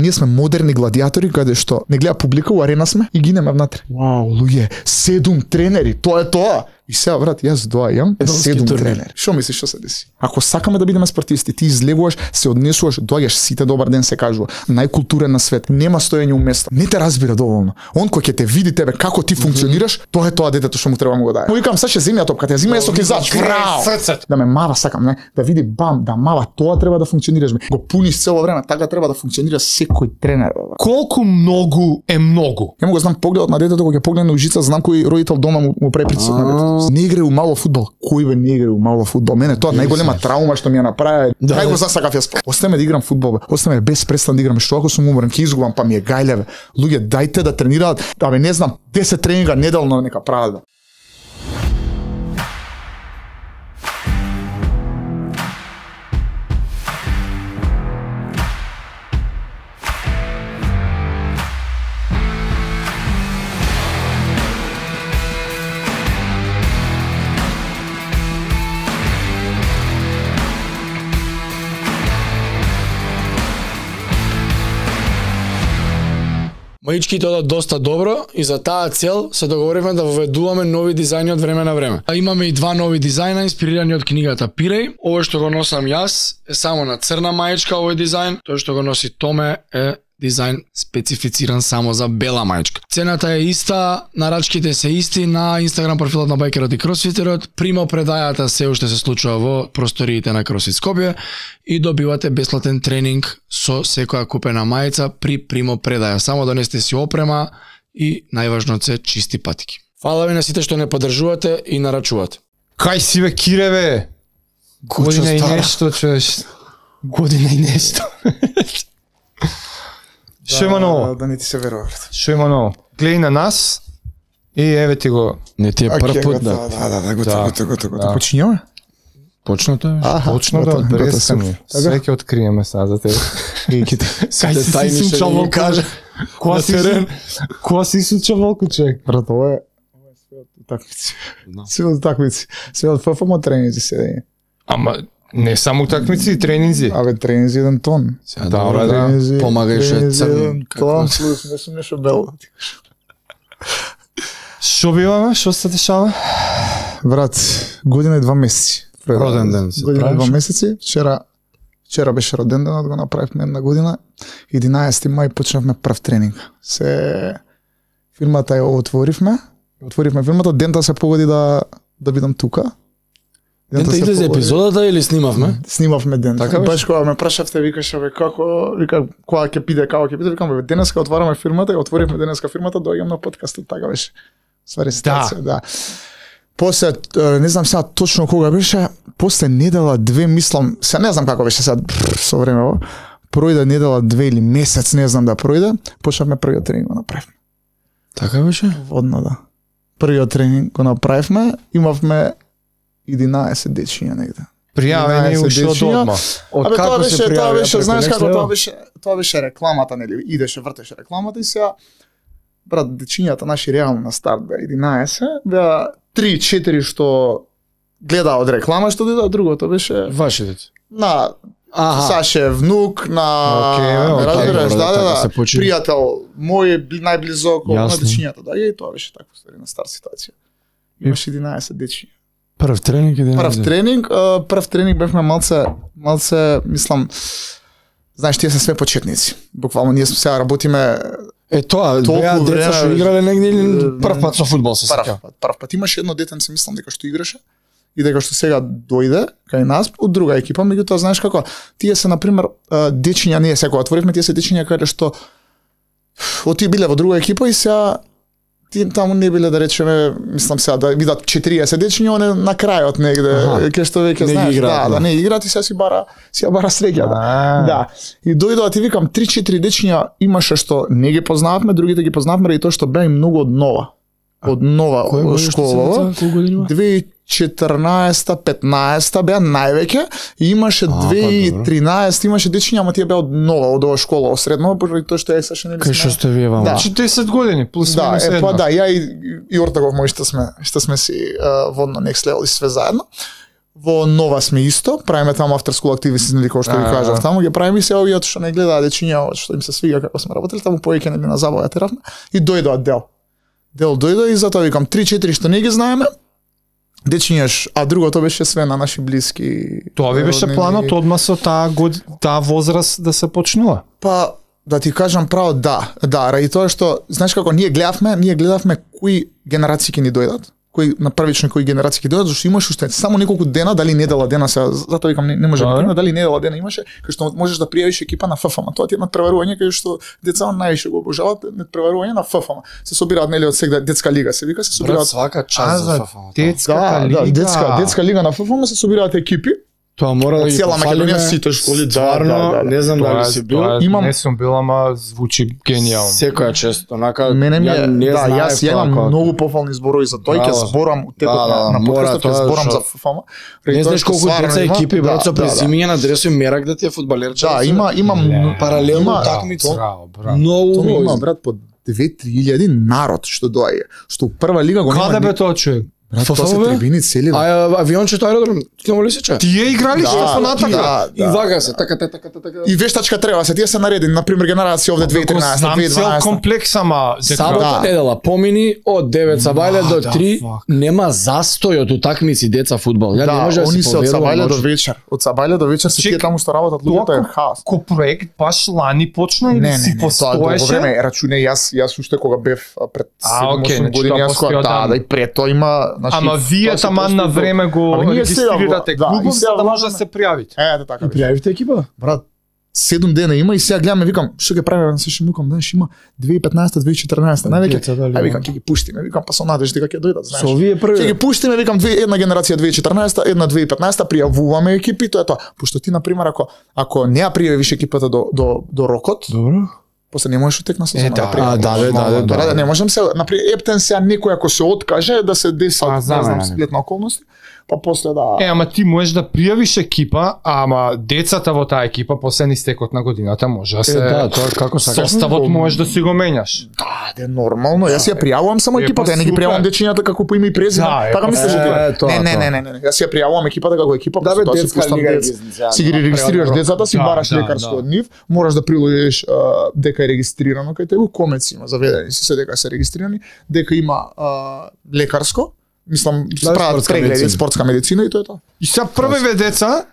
Ние сме модерни гладиатори каде што не гледа публика, у арена сме и гинеме внатре. Вау, луѓе, 7 тренери, тоа е тоа. И сега, брат, јас доаѓам, 7 тренери. Што мислиш што се деси? Ако сакаме да бидеме спортисти, ти излегуваш, се однесуваш, доаѓаш, сите добар ден се кажува, најкултурен на свет, нема стоење у место. Не те разбира доволно. Он кој ќе те види тебе како ти функционираш, тоа е тоа детето што му треба му го даде. Му викам, саќе земја топката, ја зима есок изач. Да ме мава сакам, не? Да види бам, да мава, тоа треба да функционираш. Го пуниш цело време, така треба да функционира секој тренер. Колку многу е многу? Ја му го знам погледот на детето кога ќе погледне ужица, знам кој родител дома му препритисок на детето. Не играе у мало фудбал. Кој бе не играе у мало фудбал? Мене тоа најголема травма што ми ја направи. Нај го засакав јас. Оставаме да играм фудбал, бе. Оставаме без престан да играм. Што ако сум уморен, ќе изгубам, па ми е гајле, бе. Луѓе, дајте да тренираат. Абе не знам, 10 тренинга неделно нека прават. Маичките одат доста добро и за таа цел се договоривме да воведуваме нови дизајни од време на време. Имаме и 2 нови дизајна инспирирани од книгата Пиреј. Овој што го носам јас е само на црна маичка овој дизајн, тој што го носи Томе е дизајн специфициран само за бела маичка. Цената е иста, нарачките се исти на Инстаграм профилот на Байкерот и Кросфитерот. Примо предајата се уште се случува во просториите на Кросфит Скопје и добивате бесплатен тренинг со секоја купена мајца при примо предаја. Само донесете си опрема и најважно се чисти патики. Фала ви на сите што не поддржувате и нарачувате. Кај си бе, Кире бе? Година и нешто, чуеш. Година и нешто. Шо има ново? Да не ти се верува. Шо има ново? Гледај на нас и еве ти го. Не ти е прв пат, да. Да, готово. Почињаме? Почнато е. Почна да престани. Све ќе откриеме сега за тебе. Кај си сучал волку? Која си сучал волку, човек? Брат, ова е такмици. Све од такмици. Све од ФФМ тренинзи седење. Ама не само такмици и тренинзи. Абе, тренинзи 1 тон. Добре, да. Помагајш е црн. Тон, плюс, не сум нешто бело. Шо биваме? Шо се дешава? Брат, година и 2 месеци. Роден ден се година и правиш? 2 месеци. Вчера беше роден денот, го направивме една година. 11 мај почнавме прв тренинг. Фирмата ја отворивме фирмата, дента се погоди да бидам тука. Дента излезе епизодата или снимавме? Снимавме дента. Така Баш кога ме прашавте, викаше бе како, кога ќе биде, како ќе биде, викам бе денеска отвараме фирмата, ја отворивме денеска фирмата, доаѓам на подкастот, така беше. Ствари ситуација, да. После, не знам сега точно кога беше, после недела 2 мислам, се не знам како беше сега со времево, пројде недела 2 или месец, не знам да пројде, почнавме првиот тренинг го направивме. Така беше? Водно, да. Првиот тренинг го направивме, имавме 11 дечиња негде. Пријавени уште од одма. Од Абе, како се пријавија? тоа беше, знаеш Преку како, Next Level? тоа беше рекламата, нели, идеше, вртеше рекламата и сега, брат, дечињата наши реално на старт беа 11, беа 3-4 што гледа од реклама, што дојде, другото беше Ваши деца. на Саше внук, на разбираш, да, пријател мој најблизок на дечињата, да, и тоа беше така ствари на старт ситуација. Имаше 11 дечиња. Прв тренинг и Прв тренинг бевме малце, мислам, знаеш, тие се све почетници. Буквално ние сега работиме тоа, беа деца што играле негде или прв пат со фудбал се сеќавам. Прв пат имаше едно детенце, мислам дека што играше и дека што сега дојде кај нас од друга екипа, меѓутоа знаеш како, тие се на пример дечиња, ние сега отворивме, тие се дечиња каде што оти биле во друга екипа и сега таму не биле, да речеме, мислам сега да видат 40 дечиња, оне на крајот негде, кај што веќе знаеш, да, не играат и сега си бара среќа, да. И дојдоа, ти викам, 3-4 дечиња имаше што не ги познававме, другите ги познававме ради тоа што беа им многу од нова школа. 2014-15 беа највеќе и имаше 2013 имаше дечиња, ама тие беа од нова, од ова школа, осредно, поради тоа што ја саше нели сме. Кај што сте вие вама? 40 години плюс да, минус 1. Да, ја и Ортагов мој што сме си водно Next Level и све заедно. Во Нова сме исто, правиме таму after school activities, нели како што ви кажав, таму ги правиме се овие што не гледаат дечиња, што им се свига како сме работеле, таму повеќе нели на забава теравме и дојдоа Дел дојде и затоа викам 3-4 што не ги знаеме. Дечињаш, а другото беше све на наши блиски. Тоа ви беше планот одма со таа возраст да се почнува. Па да ти кажам право, да, ради тоа што знаеш како ние гледавме кои генерации ќе ни дојдат. На првично кои генерации ќе дојдат, зашто имаш уште само неколку дена, дали недела дена се, затоа викам не може да приме, дали недела дена имаше, кај што можеш да пријавиш екипа на ФФМ. Тоа ти е надпреварување кај што деца највише го обожаваат, надпреварување на ФФМ. Се собираат нели од сега детска лига, се вика, се собираат свака час за ФФМ. Детска лига на ФФМ, се собираат екипи. Тоа мора да ги цела Македонија сите школи, не знам дали си бил. Не сум бил, ама звучи генијално. Секоја чест, онака мене ми јас имам многу пофални зборови за тој, ќе зборам од текот на подкастот, ќе зборам за ФФМ. Не знаеш колку деца екипи брат со презимиња на дресови мерак да ти е фудбалерче. Да, имам паралелно такмици. Многу има брат по 2-3 народ што доаѓа, што прва лига го нема. Каде бе тоа човек? Тоа се трибини цели. Авиончето аеродром, ќе ли сече? Тие играли што со натака. И вага се, така. И вештачка треба се, тие се наредени, на пример генерација овде 2013, 2012. Цел комплекс ама сабота недела помини од 9 сабајле до 3 нема застој од утакмици деца фудбал. Ја не може да се се од сабајле до вечер. Од сабајле до вечер се тие таму што работат луѓето е хаос. Ко проект баш лани почна или си постоеше? Не, рачуне јас уште кога бев пред 7-8 години јас кога да и пред тоа има. Ама вие таман на време го регистрирате клубов за да може да се пријавите. Ето така. И пријавите екипа? Брат, 7 дена има и сега гледаме, викам, што ќе правиме, се што викам, знаеш, има 2015, 2014, највеќе. Ај викам, ќе ги пуштиме, викам, па со надеж дека ќе дојдат, знаеш. Со овие први. Ќе ги пуштиме, викам, една генерација 2014, една 2015, пријавуваме екипи, тоа е тоа. Пошто ти на пример ако не ја пријавиш екипата до рокот, добро. После не можеш утекна сезона да пријавиш. Да, не можам се, например, Ептен сега некој ако се откаже да се деса, не знам, сплетна околности, па после да. Ама ти можеш да пријавиш екипа, ама децата во таа екипа после истекот на годината може да се тоа како сакаш. Составот можеш да си го менјаш. Да, нормално. Јас ја пријавувам само екипата, ја не ги пријавувам дечињата како по име и презиме. Така мислиш ти? Не. Јас ја пријавувам екипата како екипа, да бе, детска лига си ги регистрираш децата, си бараш лекарско од нив, мораш да приложиш дека е регистрирано кај тебе, комец има заведени се дека се регистрирани, дека има лекарско. Мислам, прават прегледи, спортска медицина и тоа е тоа. И сега првиве деца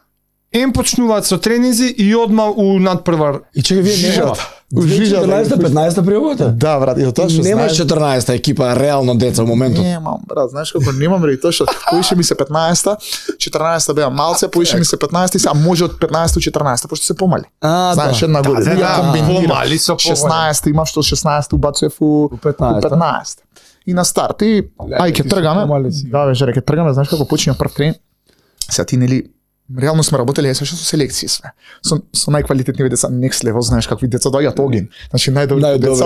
почнуваат со тренинзи и одма у надпрвар. И чека вие немате. 14-15 пријавувате? Да, брат, и тоа што немаш 14-та екипа реално деца во моментот. Немам, брат, знаеш како немам реи тоа што поише ми се 15-та, 14-та беа малце, поише ми се 15-та и сега може од 15-та 14-та, пошто се помали. Знаеш, една година. Да, помали со 16-та имав што 16-та убацував у 15-та. И на старт и ќе тргаме. Да, бе, ќе тргаме, знаеш како почиња прв тренинг. Сега ти нели реално сме работеле со селекции све. Со најквалитетни деца next level, знаеш какви деца доаѓаат огин. Значи најдобри деца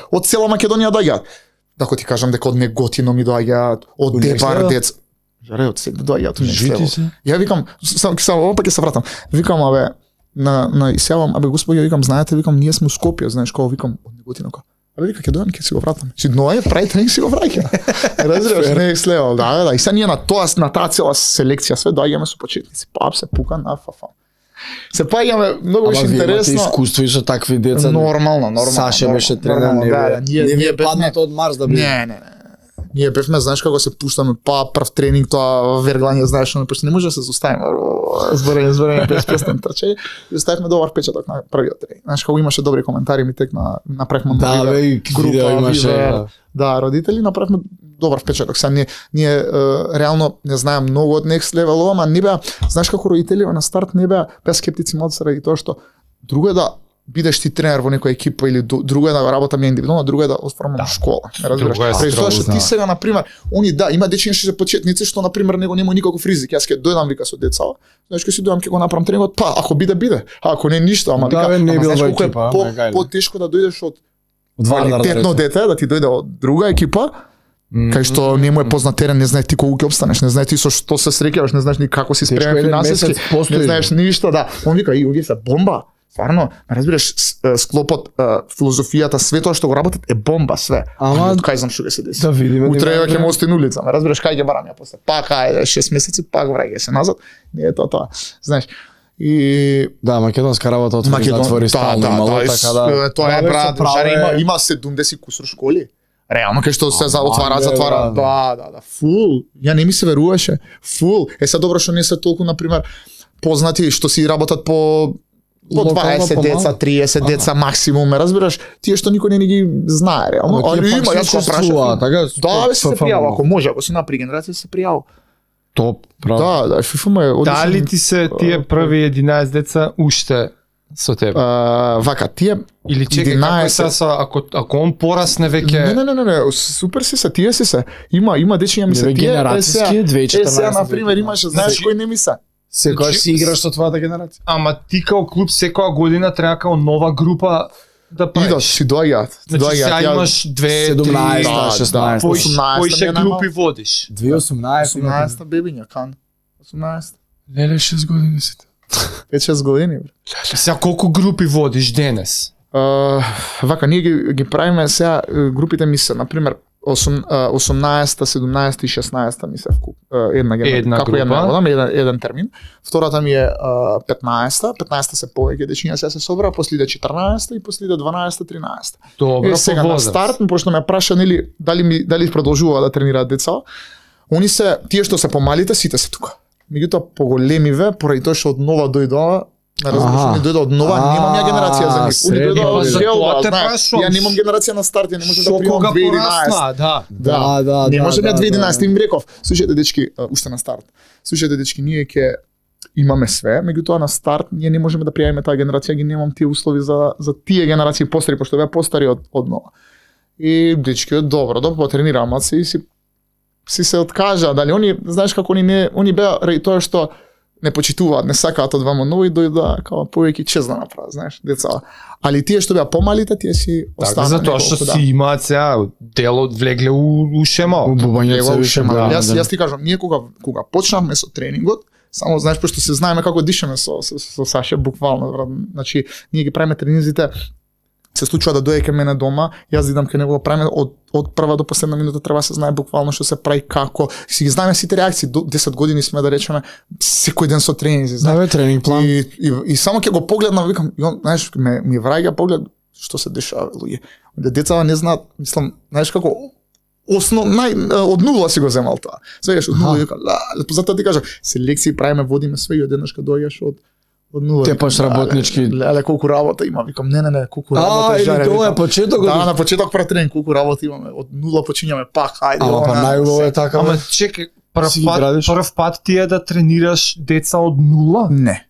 од цела Македонија доаѓаат. Дако ти кажам дека од Неготино ми доаѓаат, од Дебар деца. Жаре од сега доаѓаат next level. Ја викам, само опак ќе се вратам. Викам абе на изјавам, абе господи, викам, знаете, викам, ние сме у Скопје, знаеш како, викам, од Неготино како. Абе вика ќе дојдам ќе си го вратам. Си ној прави тренинг си го враќа. Разбираш, next level. Да. И сега ние на таа цела селекција све доаѓаме со почетници. Пап се пука на ФФ. Се паѓаме многу беше интересно. Ама искуство и со такви деца. Нормално. Саше беше тренер, не паднат од Марс да биде. Не. Ние бевме, знаеш како се пуштаме, прв тренинг, тоа верглање, знаеш, пошто не може да се зауставиме. Зборење без песен трчење. И оставивме добар впечаток на првиот тренинг. Знаеш како имаше добри коментари, ми тек направивме група имаше. Да, родители направивме добар впечаток. Сега ние реално не знаем многу од next level, ама не беа, знаеш како родители на старт не беа скептици малку заради тоа што друго е да бидеш ти тренер во некоја екипа или друго е да работам индивидуално, друго е да оформам школа. Разбираш? Преку тоа што ти сега на пример, они има дечиња што се почетници што на пример него нема никаков ризик. Јас ќе дојдам вика со деца, знаеш ќе си дојдам ќе го направам тренингот, па ако биде, а ако не ништо, ама вика, знаеш колку е потешко да дојдеш од квалитетно дете, да ти дојде од друга екипа, кај што не му е познат терен, не знае ти колку ќе опстанеш, не знае ти со што се среќаваш, не знаеш ни како си спремен финансиски, не знаеш ништо, да. Он вика, и овие се бомба. Стварно, разбираш, склопот, филозофијата, све тоа што го работат е бомба све. Ама кај знам што ќе се деси. да видиме. Утре ќе ме остане улица, разбираш кај ќе барам ја после. Пак ајде 6 месеци, пак враќај се назад. Не е тоа. Знаеш. И Да, македонска работа отвори затвори стално имало, така да. Тоа е брат, жаре има 70 кусур школи. Реално кај што се отвара. Да, фул. Ја не ми се веруваше. Фул. Се добро што не се толку на пример познати што си работат по 20 деца, 30 деца максимум, разбираш? Тие што никој не ги знае реално. Али има, јас го прашав. Да, се пријава, ако може, ако си напри генерација се пријава. Топ, право. Да, FIFA е одличен. Дали ти се тие први 11 деца уште со тебе? Вака, тие Или чекај, како е са, ако он порасне веќе... Не, супер си се, тие си се. Има дечиња ми се, тие генерацијски 2014. Сега, например, имаше, знаеш кој не ми се? Секој си играш со твојата генерација. Ама ти као клуб секоја година треба као нова група да правиш. Идат, си доаѓаат. Значи сега имаш 2, 3, 16, кои ше групи водиш? 2018. 18 бебиња, кан. 18. Леле 6 години сите. 5-6 години, бре. Сега колку групи водиш денес? Вака, ние ги правиме сега, групите ми се, например, 18-та, 17-та и 16-та ми се вкуп. Една како група. Еден термин. Втората ми е 15-та, 15-та се повеќе дечиња сега се собра, после иде 14-та и после иде 12-та, 13-та. Добро, сега на старт, пошто ме праша нели дали продолжува да тренираат деца, они се тие што се помалите сите се тука. Меѓутоа поголемиве, поради тоа што од нова дојдоа, не дојде од нова, немам ја генерација за нив. Они дојдоа од Желба, знаеш, ја немам генерација на старт, ја не можам да примам 2011. Да. Не можам ја 2011, им реков, слушајте дечки, уште на старт. Слушајте дечки, ние ќе имаме све, меѓутоа на старт ние не можеме да пријавиме таа генерација, ги немам тие услови за тие генерации постари, пошто беа постари од нова. И дечки, добро, потренирам, а си се откажа, дали они, знаеш како они беа ради тоа што не почитуваат, не сакаат од вамо нови дојда као повеќе чест да направат, знаеш, деца. Али тие што беа помалите, тие си останаа. Така, затоа што си имаат сега делот влегле у шема. Јас ти кажам, ние кога почнавме со тренингот, само знаеш пошто се знаеме како дишаме со Саше буквално, значи ние ги правиме тренинзите, се случува да дојде кај мене дома, јас идам кај него, правиме од прва до последна минута треба се знае буквално што се прави, како. Си ги знаеме сите реакции, до 10 години сме да речеме секој ден со тренинзи, знаеш. Тренинг план. И само ќе го погледнам, викам, знаеш, ми враќа поглед што се дешава, луѓе. Децата не знаат, мислам, знаеш како од нула си го земал тоа. Свееш од нула, вика, затоа ти кажам, селекции правиме, водиме све и одеднаш кога доаѓаш од нула. Тепаш работнички. Леле, колку работа има, викам, не, колку работа жаре. Или тоа е почетокот. Да, на почеток пред тренинг, колку работа имаме, од нула почињаме пак, ајде. Ама па најубаво е така. Ама чекај, прв пат ти е да тренираш деца од нула? Не.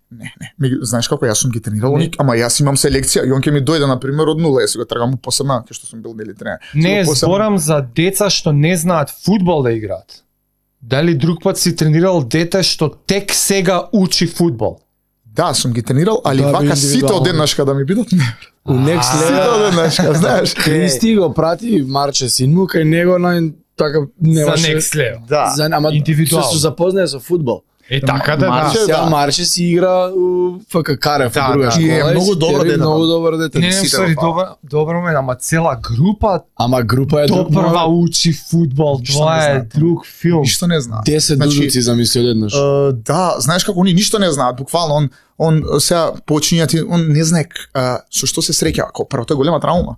Знаеш како, јас сум ги тренирал, ама јас имам селекција и он ќе ми дојде на пример од нула, јас го тргам посебно, кај што сум бил нели тренер. Не, зборам за деца што не знаат фудбал да играат. Дали друг пат си тренирал дете што тек сега учи фудбал? Да, сум ги тренирал, али вака сите одеднашка да ми бидат не. У next level. Сите одеднашка, знаеш. Кристи го прати Марче син му кај него на така немаше. За next level. Да. Ама индивидуално. се запознае со фудбал. Така да. Марче си игра у ФК Карев, во друга школа. Е многу добро дете. Многу добро дете. Не, добро ме, ама цела група. Ама група е прва учи фудбал, тоа е друг филм. Ништо не знаат. 10 дудуци замисли одеднаш. Да, знаеш како они ништо не знаат, буквално он сега почиња, он не знае со што се среќава, како прво тоа е голема травма.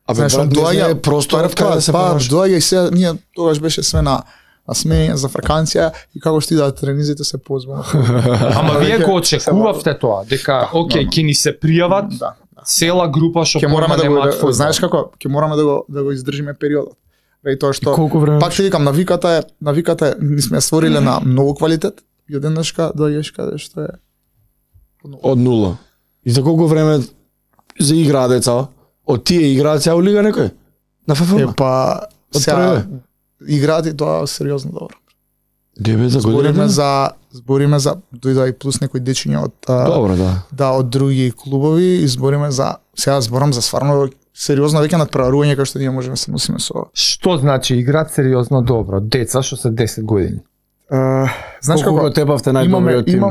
Знаеш, он доаѓа просторот каде да се понаш. Доаѓа и сега ние тогаш беше све на сме за фраканција и како што идат тренизите се позбаваме. Ама вие го очекувавте тоа, дека окей, ќе ни се пријават цела група што мораме да го, знаеш како, ќе мораме да го издржиме периодот. Ради тоа што пак ќе викам навиката е ни сме створиле на многу квалитет и одеднашка доаѓаш каде што е од нула. И за колку време за играа деца? Од тие играат цела лига некој? На ФФМ? Па сега играат и тоа сериозно добро. 9 за година. Збориме за дојде и плюс некои дечиња од добро, да. Да, од други клубови и збориме за сега зборам за стварно сериозно веќе надпреварување кај што ние можеме се носиме со. Што значи играат сериозно добро? Деца што се 10 години. Знаеш како тепавте најдобриот тим?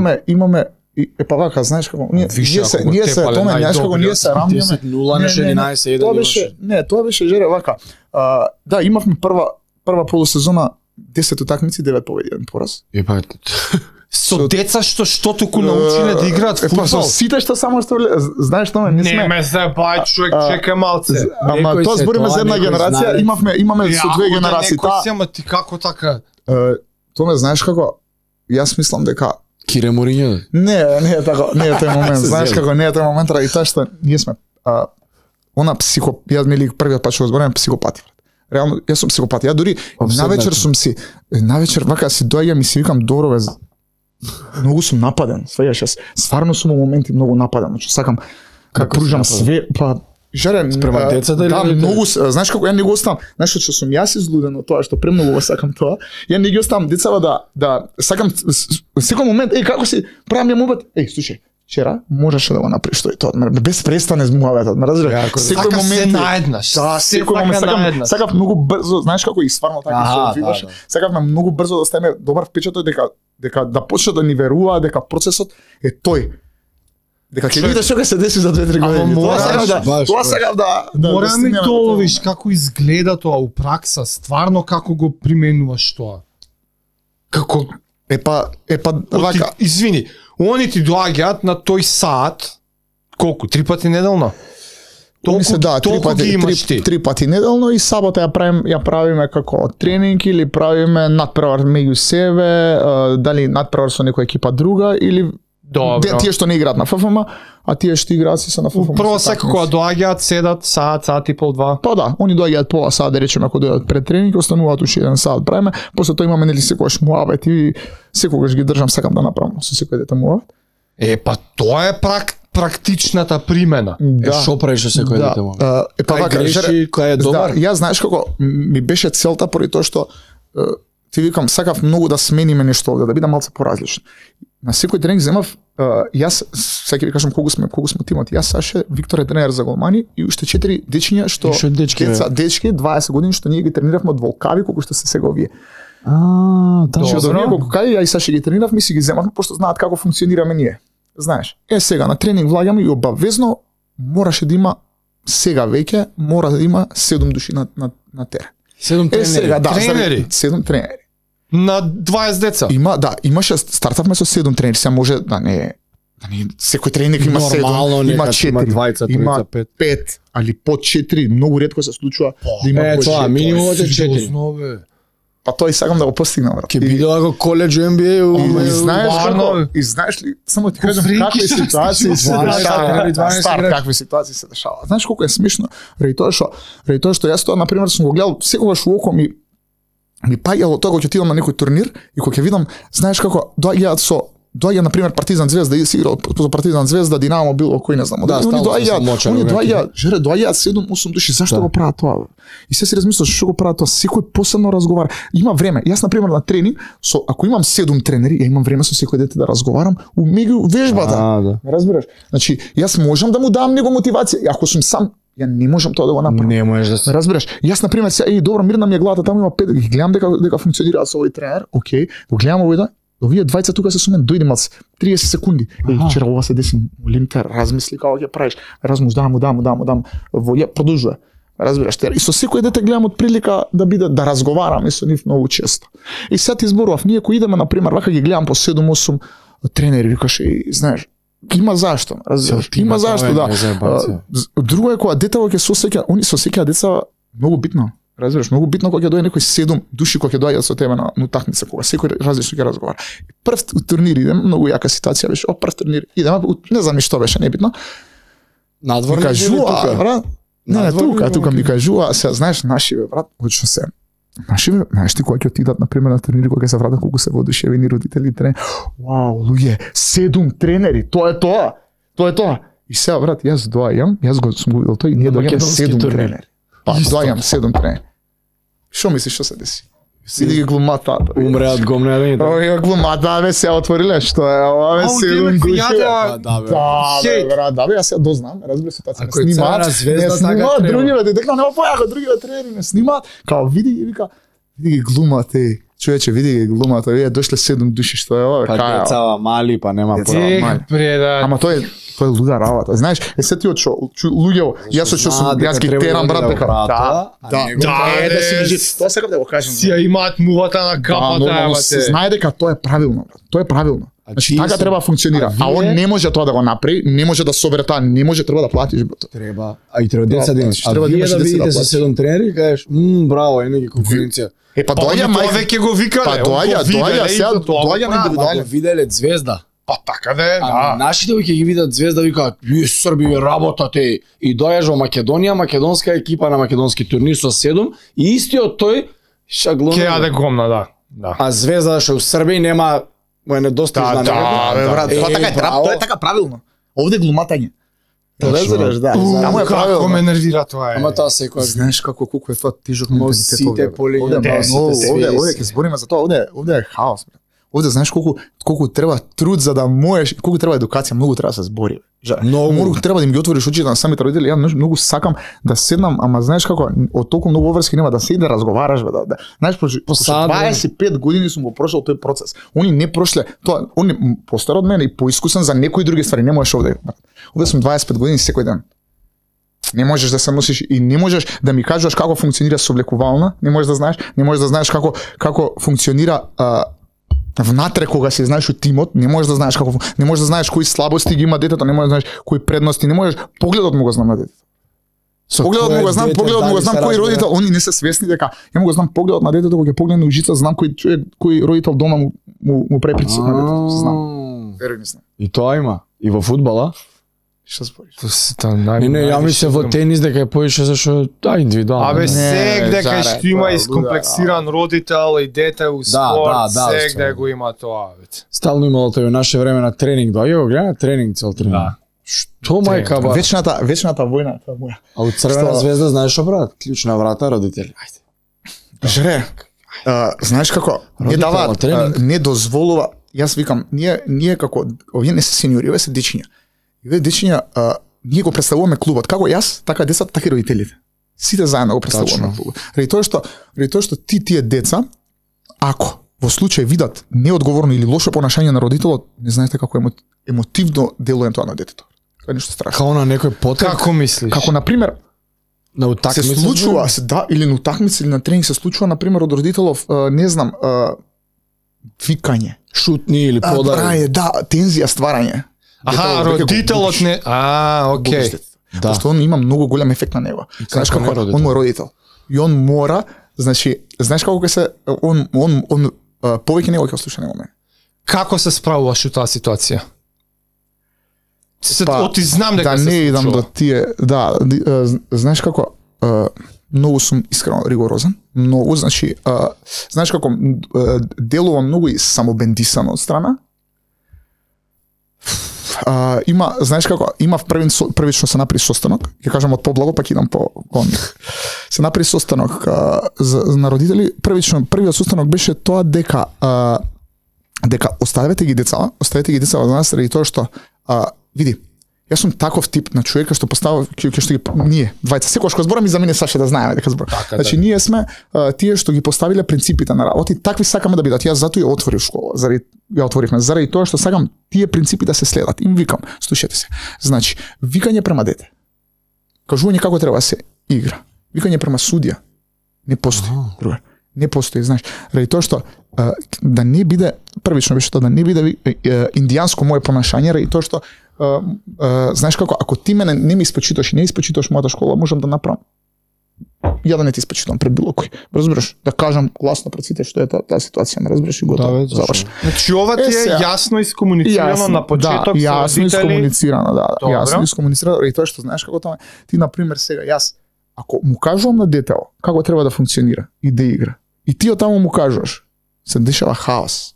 И па вака, знаеш како, ние Више, се ако го ние се тепале томе, знаеш како ние се рамнеме. 10-0 на 11-1. Тоа беше, не, тоа беше жере вака. Да, имавме прва полусезона 10 утакмици, 9 победи, 1 пораз. Епа Со деца што туку научиле да играат Па со фудбал. сите што само што знаеш тоа не сме. Не ме забај, човек, чека малце. Ама Некој тоа се збориме тоа, за една некој генерација, знае. имаме со две генерации. Некој си, ама ти како така? Тоа ме знаеш како, јас мислам дека Кире Моринјо. не е така, не е тој момент. Знаеш како не е тој момент, ради тоа што ние сме она јас мили првиот пат што го зборам психопати. Реално јас сум психопат. Ја дури навечер вака си доаѓам и си викам добро бе. Многу сум нападен. Сваѓаш јас. Стварно сум во моменти многу нападен, значи сакам да пружам све, па жарен Спрема децата или да, родителите? многу, знаеш како ја не го оставам. Знаеш што сум јас излуден од тоа што премногу го сакам тоа. Ја не ги оставам децава да сакам секој момент, како си правам ја мобет. Слушај, вчера можеше да го направиш тоа. Без престане муаветот, ме разбираш? Секој момент наеднаш. Да, секој момент сакав многу брзо, знаеш како и стварно така што видиш. Сакавме многу брзо да стане добар впечаток дека да почне да ни верува дека процесот е тој. Дека ќе видиш што ќе се деси за 2-3 години. Тоа сакав да Мора ми доловиш како изгледа тоа у пракса, стварно како го применуваш тоа. Како Епа вака. Извини, они ти доаѓаат на тој саат колку 3 пати неделно? Три пати неделно и сабота ја правиме како тренинг или правиме надпревар меѓу себе, дали надпревар со некоја екипа друга или тие што не играат на ФФМ, а тие што играат се на ФФМ. Прво секако кога доаѓаат, седат саат и пол, 2. Па да, они доаѓаат пола саат, да речеме, ако доаѓаат пред тренинг, остануваат уште 1 саат правиме, после тоа имаме нели секогаш муабет и секогаш ги држам, сакам да направам со секој дете муабет. Па тоа е практичната примена. Што правиш со секој дете муабет? Кај греши, кој е добар? Јас знаеш како ми беше целта поради тоа што ти викам сакав многу да смениме нешто овде, да бидам малце поразличен. На секој тренинг земав јас сега ќе ви кажам колку сме тимот. Јас Саше, Виктор е тренер за голмани и уште 4 дечиња што дечки 20 години што ние ги трениравме од волкави колку што се сега овие. Значи од овие волкави ја и Саше ги трениравме и си ги земавме пошто знаат како функционираме ние. Знаеш, сега на тренинг влагаме и обавезно мораше да има сега веќе мора да има 7 души на терен. 7 тренери. Сега, да, тренери. 7 тренери. На 20 деца. Имаше стартавме со 7 тренери, сега може да не секој тренер има 7, има 4, има 5, али по 4, многу ретко се случува да има по 4. Минимумот е 4. Па тоа и сакам да го постигнам, брат. Ке биде како колеџ NBA и знаеш ли, само ти кажам какви ситуации се дешаваат. Какви ситуации се дешаваат. Знаеш колку е смешно, ради тоа што јас тоа на пример сум го гледал секогаш во око ми паѓало тоа кога ќе отидам на некој турнир и кога ќе видам, знаеш како доаѓа на пример Партизан Звезда и си играл со Партизан Звезда, Динамо било кој не знам. Они доаѓаат 7-8 души, зашто го прават тоа? И се си размислуваш што го прават тоа, секој посебно разговара. Има време. Јас на пример на тренинг, ако имам 7 тренери, ја имам време со секој дете да разговарам меѓу вежбата. Разбираш? Значи, јас можам да му дам него мотивација. Ако сум сам, ја не можам тоа да го направам. Не можеш да се. Разбираш? Јас на пример сега добро мирна ми е главата, таму има 5, ги гледам дека функционираат со овој тренер. Океј, го гледам овој овие двајца тука се со мен, дојде малце 30 секунди. Вчера ова се деси, молим те, размисли како ќе правиш. Дам, ја продолжува. Разбираш, и со секој дете гледам од прилика да биде да разговарам и со нив многу често. И сега ти зборував, ние кои идеме на пример, вака ги гледам по 7-8 тренери, викаш и знаеш, има зашто, разбираш, има зашто, да. Друго е кога детево ќе сосеќа, они сосеќаат деца многу битно. Разбираш, многу битно кога ќе дојде некој 7 души кога ќе доаѓаат со тебе на утакмица, кога секој различно ќе разговара. Прв турнир идем, многу јака ситуација беше, прв турнир идем, не знам ни што беше, небитно. Надвор кажува, брат. Не, тука ми кажува, се знаеш нашиве, брат, очно се. Нашиве, знаеш ти кога ќе отидат на пример на турнири, кога ќе се вратат колку се воодушевени родители, тренери. Вау, луѓе, 7 тренери, тоа е тоа. Тоа е тоа. И сега, брат, јас доаѓам, јас го сум го видел тој, ние доаѓаме 7 тренери. Па, доаѓам 7 тренери. Што мислиш што се деси? Сиди ги глумата. Умре од гомнење. Овие глумата бе се отвориле, што е ова бе 7 души. Да, бе, јас ја дознам, разбира се, тоа се снимаат. Не снимаат другиве, дека нема појако другиве тренери не снимаат. Као види ги вика, види ги глумате. Човече, види ги глумата, вие дошле 7 души, што е ова, Па кај. децава мали, па нема Деца. пора. мали. Преда. Ама тој е луда работа. Знаеш, се ти од луѓе, јас што сум јас ги терам брат дека. Да, си кажи, тоа сакам да го кажам. Си ја имаат мувата на капата, нормално бате. се знае дека тоа е правилно, брат. Тоа е правилно. Значи тие така се- треба да функционира. а А он вие- не може тоа да го направи, не може да собере тоа, не може треба да платиш брат. Треба, а и треба деца да имаш. А Треба да вие имаш да деца да видите со платиш. 7 тренери, кажеш, браво, е неки конкуренција. Е па Па доаѓа тоа мајка. веќе го викале. Па он го доаѓа виделе и сега, за тоа го доаѓа на прави. Ама индивидуално. го виделе Звезда. Па така да е, А да. нашите ќе ги видат Звезда викаат, "Вие Срби вие работате" и доаѓаш во Македонија, македонска екипа на македонски турнир со 7 и истиот тој шаглон. Ке јаде гомна, да. Да. А Звезда што у Србија нема му е недостижна. Да, Бе, брат, тоа така е, браво. тоа е така правилно. Овде глуматање. Точно. Разбираш, да. Таму е Како ме правилно. нервира тоа е. Ама тоа секој Знаеш колку е тоа тежок Но менталитет сите овде. полиња, Овде да, е сите многу, се овде свиси. ќе збориме за тоа, овде е хаос, брат. Овде знаеш колку треба труд за да можеш, колку треба едукација, многу треба да се збори. Многу треба да им ги отвориш очите на самите родители. Ја многу сакам да седнам, ама знаеш како, од толку многу обврски нема да седи да разговараш, бе, да. Знаеш, после сад, 25 години сум го прошол тој процес. Они не прошле, тоа, они постар од мене и поискусен за некои други ствари, не можеш овде. Овде сум 25 години секој ден. Не можеш да се носиш и не можеш да ми кажеш како функционира соблекувална, не можеш да знаеш како функционира внатре кога си знаеш од тимот, не можеш да знаеш не можеш да знаеш кои слабости ги има детето, не можеш да знаеш кои предности, не можеш погледот му го знам на детето. Погледот му го знам кој родител, они не се свесни дека ја му го знам погледот на детето кога ќе погледне ужица, знам кој родител дома му прави притисок на детето, знам. Веруј ми знам. И тоа има. И во фудбала? Што збориш? Не, ја мислев во тенис дека е поише зашто индивидуално. Абе, Не, сегде заред, кај што има тоа е искомплексиран родител и дете у спорт, сегде го има тоа, веќе. Стално имало тој во наше време на тренинг, доаѓа го гледа тренинг цел тренинг. Да. Што мајка ба? Вечната војна, тоа моја. А од Црвена Што? звезда знаеш што прават? Клучна врата родители. Ајде. Жре, знаеш како, не Родител дава, на тренинг. не дозволува, јас викам, ние како, овие не се сениори, овие се дечиња. И овие дечиња, ние го представуваме клубот, како јас, така децата, така и родителите. Сите заедно го представуваме клубот. Ради тоа што тие деца, ако во случај видат неодговорно или лошо понашање на родителот, не знаете како емотивно делува тоа на детето. Тоа е нешто страшно. Као на некој потек. Како мислиш? Како на пример, На се утакмица. случува, или на утакмица или на тренинг се случува на пример од родителов, не знам, викање, шутни или подари. браје, да, тензија стварање. Аха, Детето веќе го родителот губиш. не... Окей. Губиш детето. Да. Пошто он има многу голем ефект на него. Знаеш како е како, родител? он му е родител. И он мора, значи, знаеш како ќе се, он повеќе него ќе слуша него мене. Како се справуваш у таа ситуација? Па, Оти знам дека Да се не идам случува. до тие, знаеш како, многу сум искрено ригорозен, многу, значи, знаеш како, делувам многу и самобендисано од страна. Има, знаеш како, има првично се направи состанок, ќе кажам од поблаго, пак идам по се направи состанок на родители. Првиот состанок беше тоа дека оставете ги деца во нас заради тоа што види, јас сум таков тип на човека што поставува ќе што ги ние двајца секогаш кога зборам и за мене Саше да знаеме дека зборам. Така, Значи ние сме тие што ги поставиле принципите на работи, такви сакаме да бидат. Јас затоа ја отворив школа, ја отворивме заради тоа што сакам тие принципи да се следат. Им викам, слушате се. Значи, викање према дете. Кажување како треба да се игра. Викање према судија. Не постои, другар. Не постои, знаеш. Ради тоа што да не биде првично беше тоа да не биде индијанско мое понашање, ради тоа што знаеш како, ако ти мене не ми испочиташ и не испочиташ мојата школа, можам да направам. Ја да не ти испочитам пред било кој. Разбираш, да кажам гласно пред сите што е таа ситуација, ме разбираш и готово. Да, заврши. Значи ова ти е сега. јасно искомуницирано на почеток да, со јасно родители. искомуницирано, да, Добро. јасно искомуницирано и тоа што знаеш како тоа. Ти на пример сега јас ако му кажувам на детето како треба да функционира и да игра. И ти од таму му кажуваш, се дешава хаос.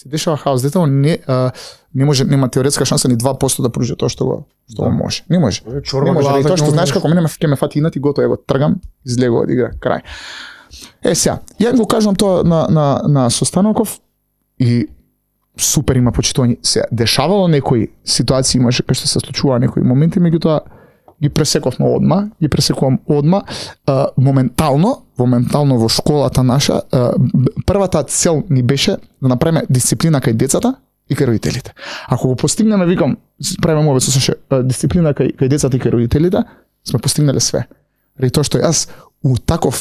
Детето не може, нема теоретска шанса ни 2% да пружи тоа што го може. Не може. Не може, и тоа што знаеш како мене ќе ме фати инат и готово, ја го тргам, излегува од игра, крај. Сега, ја го кажувам тоа на состаноков и супер има почитување. Се дешавало некои ситуации, имаше кај што се случува некои моменти, меѓутоа ги пресекувам одма, моментално во школата наша, првата цел ни беше да направиме дисциплина кај децата и кај родителите. Ако го постигнеме, викам, правиме обид со дисциплина кај децата и кај родителите, сме постигнале све. Ради тоа што јас у таква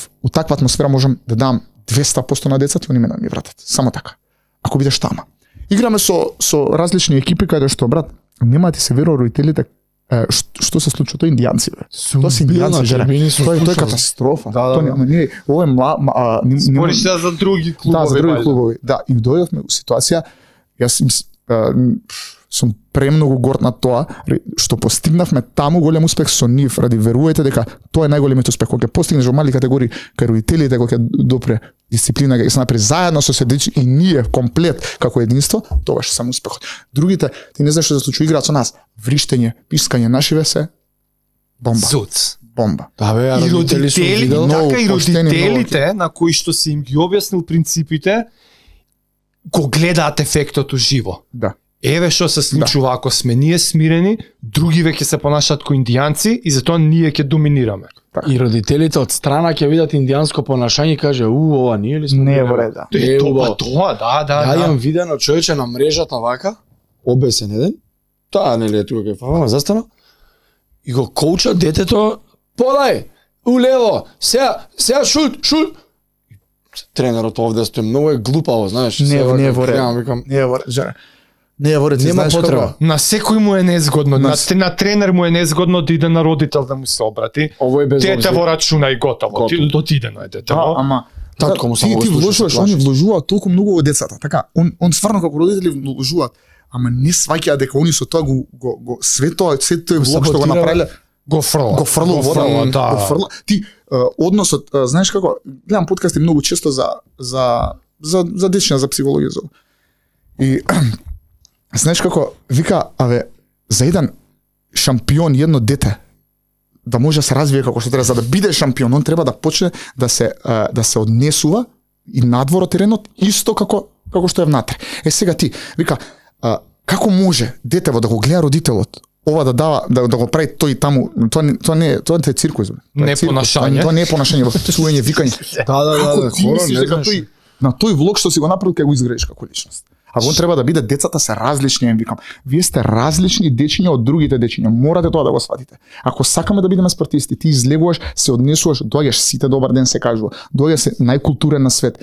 атмосфера можам да дам 200% на децата и они ме да ми вратат. Само така. Ако бидеш тама. Играме со различни екипи каде што, брат, нема ти се верува родителите што се случува, тоа индијанци, бе. Тоа се индијанци, жере. Тоа е катастрофа. Да. Ова е Спориш за други клубови. Да, за други клубови. Да, и дојдовме у ситуација, јас сум премногу горд на тоа што постигнавме таму голем успех со нив, ради верувајте дека тоа е најголемиот успех кога ќе постигнеш во мали категории кај родителите, кога ќе допре дисциплина, ќе се направи заедно со седичи и ние комплет како единство, тогаш само успехот. Другите, ти не знаеш што се случува, играат со нас, вриштење, пискање, нашиве се бомба. Зуц. Бомба. Да бе, И родители, така и поштени, родителите на кои што си им ги објаснил принципите, го гледаат ефектот уживо. Да. Еве што се случува ако сме ние смирени, други веќе се понашаат кои индијанци и затоа ние ќе доминираме. И родителите од страна ќе видат индијанско понашање и каже, ова ние ли сме? Не е во ред, да. Тоа, да. Ја имам видено човече на мрежата вака, обесен еден, таа нели е тука кај фава, застана, и го коуча детето, подај, улево, сега шут. Тренерот овде стои многу е глупаво, знаеш. Не е во ред. Не е во ред, жаре. Не е во ред, нема потреба. На секој му е незгодно, на тренер му е незгодно да иде на родител да му се обрати. Ово е без дете во рачуна и готово. Отидено е детево. Ама татко му само ти вложуваш, они вложуваат толку многу во децата, така. Он стварно како родители вложуваат, ама не сваќаат дека они со тоа го све тој влог што го направиле го фрла вода, да. го фрла. Ти односот, знаеш како, гледам подкасти многу често за дечиња, за психологија. И знаеш како, вика, за еден шампион, едно дете, да може да се развие како што треба, за да биде шампион, он треба да почне да се однесува и надвор од теренот, исто како што е внатре. Сега ти, вика, како може детево да го гледа родителот, ова да дава, да го прави тој таму, тоа не е циркус. Не е понашање. Тоа не е понашање, во псување, викање. Да, хора, не знаеш. На тој влог што си го направил, ќе го изградиш како личност. А он треба да биде, децата се различни, викам. Вие сте различни дечиња од другите дечиња. Морате тоа да го сватите. Ако сакаме да бидеме спортисти, ти излегуваш, се однесуваш, доаѓаш сите добар ден се кажува. Доаѓа се најкултурен на свет.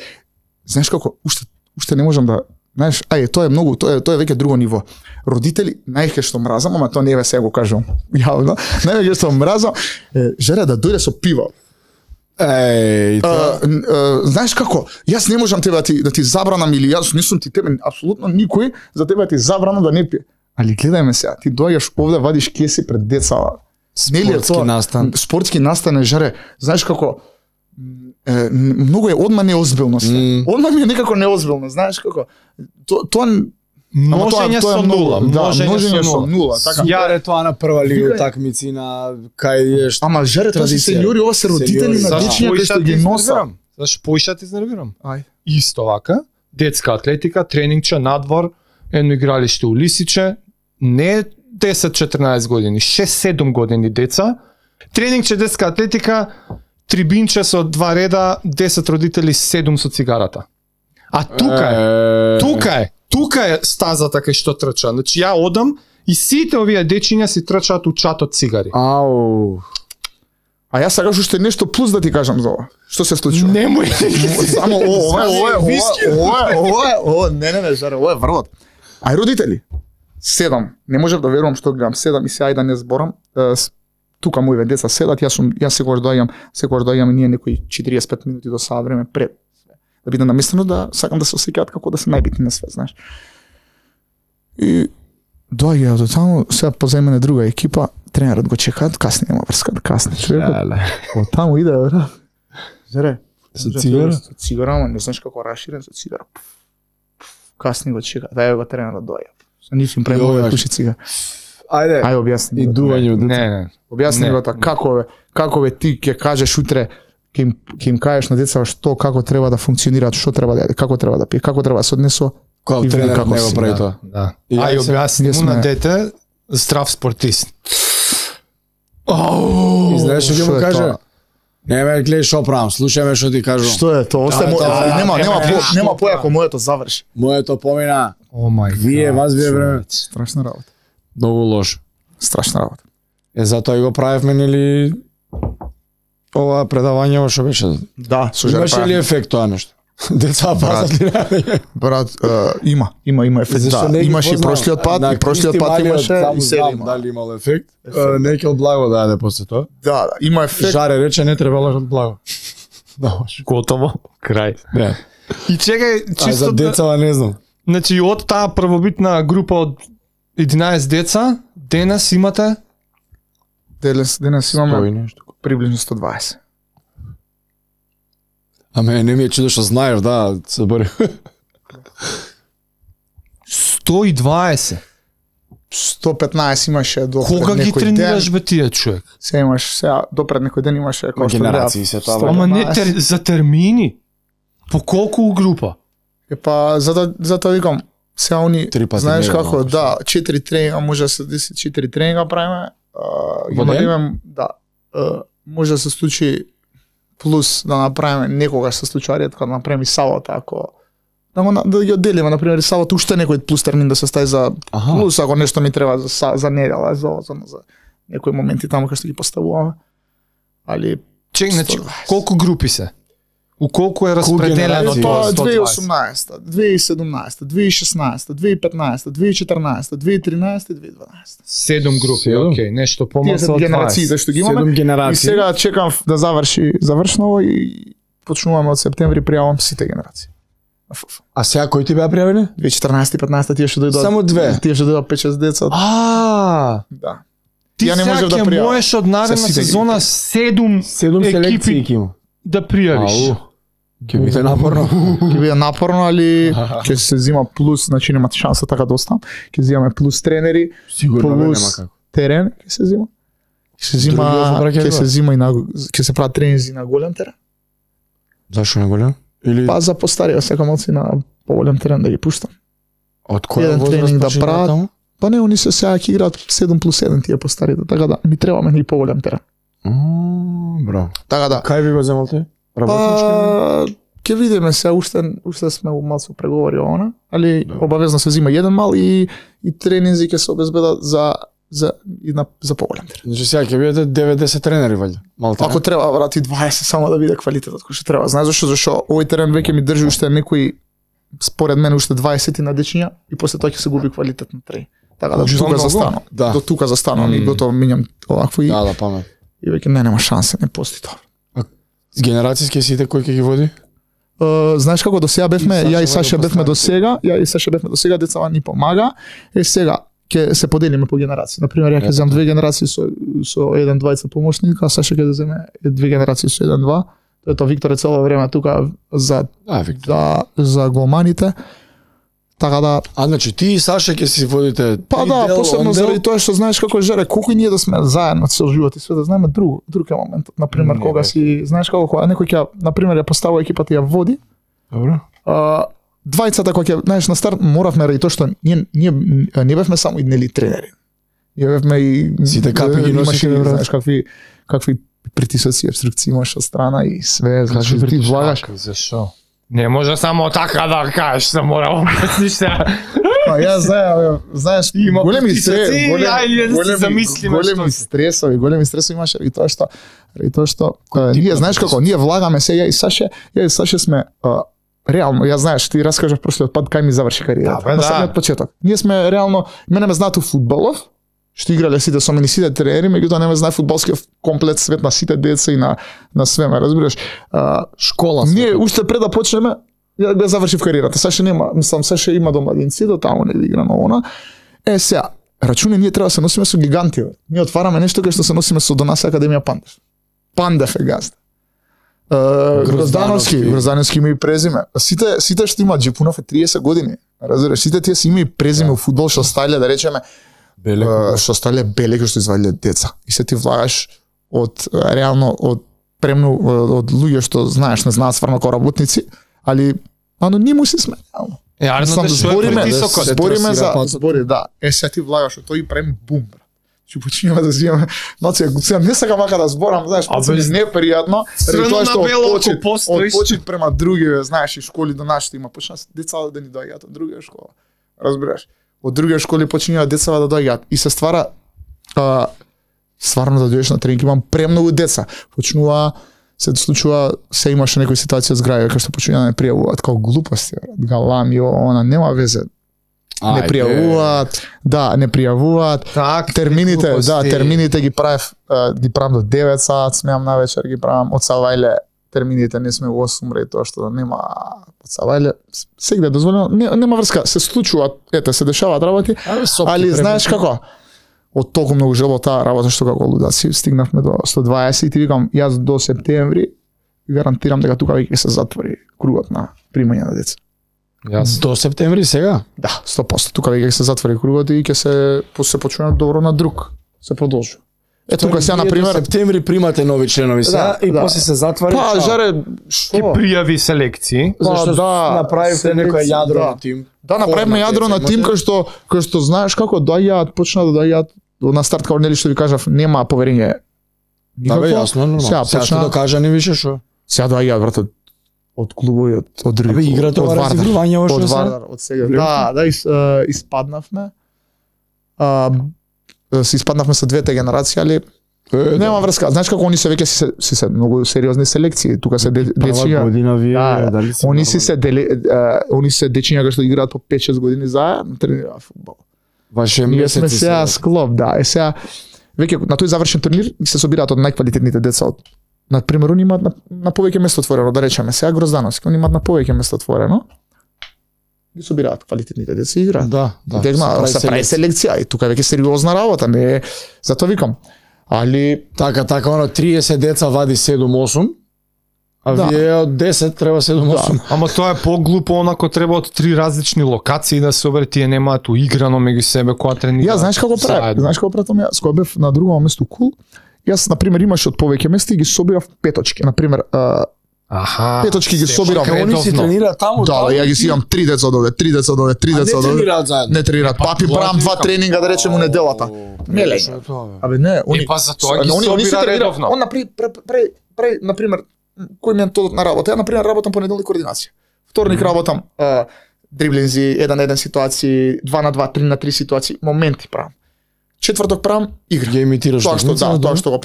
Знаеш како, уште не можам да, знаеш, тоа е веќе друго ниво. Родители најке што мразам, ама тоа не е сега го кажам јавно. Најке што мразам, жере да дојде со пиво. Знаеш како, јас не можам тебе да ти забранам, или јас не сум ти тебе, апсолутно никој за тебе ти забранам да не пие. Али гледајме сега, ти доаѓаш овде, вадиш кеси пред деца. Спортски настан, жаре, знаеш како, многу е одма неозбилно све. Одма ми е некако неозбилно, знаеш како. Тоа Множење со нула. Множење со нула. Така. Јаре тоа на прва лига такмици на кај еш. Ама жаре тоа се сеньори, ова се родители на дечиња кои што ги носат. Зашто поиша ти изнервирам? Исто вака, детска атлетика, тренингче надвор, едно игралиште у Лисиче, не 10-14 години, 6-7 години деца. Тренингче детска атлетика, трибинче со 2 реда, 10 родители, 7 со цигарата. А тука е стазата кај што трча. Значи ја одам и сите овие дечиња си трчаат у чатот цигари. Ау. А јас сакаш уште нешто плюс да ти кажам за ова. Што се случува? Немој. Само не, жаре, ова е врвот. Ај родители, 7, не можев да верувам што гледам, 7 и сега да не зборам, тука моите деца седат, јас секогаш доаѓам ние некои 45 минути до саат време пред да биде наместено, да сакам да се осеќаат како да се најбитни на свет, знаеш. И доаѓа до таму, сега позајмене друга екипа, тренерот го чекаат, касни нема врска да касни човекот. Од таму иде, брат. Жере, со цигара? Со цигара, ама не знаеш како раширен со цигара. Касни го чекаат, дај го тренерот доаѓа. Со нив им премога пуши цигара. Ајде објасни. И дување од Не. Објасни го тоа, како ти ќе кажеш утре, ќе им кажеш на деца како треба да функционираат, што треба да јаде, како треба да пие, како треба да се однесува. Кој тренерот не го прави тоа. Да. Ај објасни му на дете здрав спортист. И знаеш што ќе му каже? Не ме гледај што правам, слушај ме што ти кажувам. Што е тоа? Нема појако моето заврши. Моето помина. О мај. Вие вас вие време. Страшна работа. Многу лошо. Страшна работа. Затоа и го правевме нели ова предавање што беше. Да, со Имаше ли ефект тоа нешто? Деца пазат ли? Брат, има ефект. Да, имаше и прошлиот пат, и прошлиот пат имаше и сега има. Дали имал ефект? Некел благо даде после тоа. Да, има ефект. Жаре рече не требало благо. Да, Готово. Крај. Не. И чекај, А чисто за децава не знам. Значи од таа првобитна група од 11 деца, денес имате Денес имаме приближно 120. А не ми е чудо што знаеш, да, се бори. 120. 115 имаше до Кога ги некој тренираш ден. бе тие човек? Сега имаш, до пред некој ден имаше како што Генерации се тоа. Ама не за термини. По колку група? Па затоа викам, сега они Три пати знаеш дневно, како, значи. да, 4 тренинга може да се деси 4 тренинга правиме. Ги Во ден? направиме, да. Може да се случи плюс да направиме некогаш се случува ред кога направиме сабота ако да ги одделиме, например, сабота уште некој плюс термин да се стави за плюс ако нешто ми треба за недела, за некои моменти таму кај што ги поставуваме. Али Чек, значи 120. колку групи се? У колку е распределено генерации? тоа Тоа 120? 2018, 2017, 2016, 2015, 2014, 2013 и 2012. 7 групи, Седум? окей, нешто Тие помалку се од генерациите 20. што ги имаме. 7 И генерации. сега чекам да завршно и почнуваме од септември пријавам сите генерации. А сега кои ти беа пријавени? 2014 и 15 тие што дојдоа. Само две? Тие што дојдоа 5-6 деца. Да. Ти Ја не сега можев да ќе пријавам. можеш од наредна Се сите ги сезона 7 7 селекции екипи ќе има. да пријавиш. Ќе биде напорно. Ќе биде напорно, али ќе се зима плюс, значи немате шанса така да останам. Ќе зимаме плюс тренери, Сигурно нема плюс како. терен, ќе се зима. Ќе се зима и на ќе се прават тренинзи на голем терен. Зашо не голем? Или Па за постарија сакам оци на поголем терен да ги пуштам. од која еден возраст тренинг да почнуваат прават? таму? Па не, они се сега ќе играат 7+1 тие постарите, така да ми требаме и поголем терен. Браво. Така да. Кај ви го земал ти? Работнички? Па ќе видиме се, уште сме у малку преговори она, али обавезно се зима еден мал и тренинзи ќе се обезбедат за поголем терен. Значи сега ќе бидете 90 тренери ваljda. Малта. Ако треба брати 20 само да биде квалитетот кој што треба. Знаеш зашо овој терен веќе ми држи уште некои според мене уште 20 на дечиња и после тоа ќе се губи квалитет на тренинг. Така да Значи, тука многу? застанам. Да. До тука застанам и готово минјам овакво и Да, памет. веќе нема шанса, не постои тоа. Генерацијски сите кој ќе ги води? Знаеш како до сега бевме, И Саша ја и го Саша бевме до сега, сега децава ни помага. Сега ќе се поделиме по генерации. На пример, ја ќе земам 2 генерации со еден двајца помошник, а Саша ќе земе 2 генерации со 1-2. Тоа Виктор е цело време тука за за голманите. Така да, А значи ти и Саша ќе си водите па да, дел, посебно он дел? заради тоа што знаеш како Жере, колку и ние да сме заедно цел живот и све да знаеме друг е моментот. На пример, Не, кога бе. си, знаеш како кога некој ќе, на пример, ја поставува екипата и ја води, Добро. двајцата кога ќе, знаеш, на старт моравме ради тоа што ние не бевме само иднели тренери. Ние бевме и Сите капи ги имаше, носите, брат. знаеш, какви притисоци и обструкции имаш од страна и све, значи ти влагаш. Зашо? Не може само така да кажеш, се мора обясниш се. Па ја знаеш, Има големи притисоци, ајде да се замислиме што се. големи стресови имаше и тоа што ние знаеш како, ние влагаме се ја и Саше сме реално, ја знаеш, ти раскажав прошлиот пат кај ми заврши кариерата. Да, бе, На да. самиот почеток. Ние сме реално, мене ме знаат у фудбалов, што играле сите со мене, сите тренери, меѓутоа не ме знае фудбалскиот комплет свет на сите деца и на све, ме разбираш. Школа. Ние уште пред да почнеме, ја го завршив кариерата. Саше нема, мислам Саше има домадинци, до таму не игра на она. Сега, рачуне ние треба да се носиме со гиганти. Бе. Ние отвараме нешто кај што се носиме со до нас Академија Пандев. Пандев е газда. Гроздановски има и презиме. Сите што имаат Джипунов е 30 години. Разбираш, сите тие си има и презиме у фудбал што стале да речеме што стале беле што извадиле деца. И се ти влагаш од реално од премну од луѓе што знаеш, не знаат стварно како работници, али анонимуси сме реално. Арно да што е притисокот. Збориме за збори, да. Се ти влагаш од тој и прем бум. Ќе почнеме да земаме. Значи, сега не сакам мака да зборам, знаеш, без... непријатно, Црвено тоа што на бело, од ако постоиш. почит према други, знаеш, и школи до нашите има почна деца да ни доаѓаат од друга школа. Разбираш? Од други школи почнуваат деца да доаѓаат и се ствара стварно да дојдеш на тренинг, имам премногу деца. Почнува се случува, се имаше некои ситуација со граѓани кај што почнуваат да не пријавуваат како глупости, галами, она нема везе. Не пријавуваат, да, не пријавуваат. Так, термините, да, термините ги правев до 9 сат, смеам навечер ги правам од Савајле. Термините не сме во 8 мреј, тоа што нема од Савајле. Сегде дозволено, нема врска, се случуваат, се дешаваат работи, али знаеш како? Од толку многу желба таа работа што како лудаци стигнавме до 120 и ти викам јас до септември гарантирам дека тука веќе се затвори кругот на примање на деца. Јас до септември сега? Да, 100%. Тука веќе се затвори кругот и ќе се почне добро на друг. Се продолжува. Ето тука сега на пример септември примате нови членови сега и после се затвори. Па жаре Ки пријави селекции. Зашто да, направивте некој јадро на тим. Да, направивме јадро на тим кај што знаеш како доаѓаат, почна да доаѓаат на старт како нели што ви кажав, нема поверење. Да бе, јасно, нормално. Сега што докажа не више што. Сега доаѓаат брат од клубови, од други. Абе играте ова разигрување од ошто Вардар, од сега. Да, испаднавме. Се испаднавме со двете генерации, али нема врска. Знаеш како они се веќе се многу сериозни селекции. Тука се дечиња. Година вие дали се. Они се дечиња кои што играат по 5-6 години заедно, тренираат фудбал. Ваше Ние месеци сме сега склоп, да. Сега веќе на тој завршен турнир се собираат од најквалитетните деца од на пример они имаат на повеќе место отворено, да речеме, сега Гроздановски, они имаат на повеќе место отворено. Ги собираат квалитетните деца и играат. Да. Се прави селекција и тука веќе сериозна работа, не затоа викам. Али така оно 30 деца вади 7-8. А вие од 10 треба 7-8. Ама тоа е поглупо, онако треба од 3 различни локации да се собере, тие немаат уиграно меѓу себе кога тренираат. Ја знаеш како правев? Знаеш како правев? Јас кога бев на друго место кул, јас на пример имаше од повеќе места и ги собирав петочки, на пример петочки ги собирам. Како они си тренираат таму? Да, ја ги си имам 3 деца од овде, 3 деца од овде, 3 деца од овде. Не тренираат заедно. Не тренираат. Папи правам 2 тренинга да речеме неделата. Не ле. Абе не, они па за тоа ги собира редовно. Он на пример кој методот на работа? Ја на пример работам понеделник координација. Вторник работам дриблинзи, 1-1 ситуации, 2 на 2, 3 на 3 ситуации, моменти правам. Четврток правам игра. Ја имитираш тоа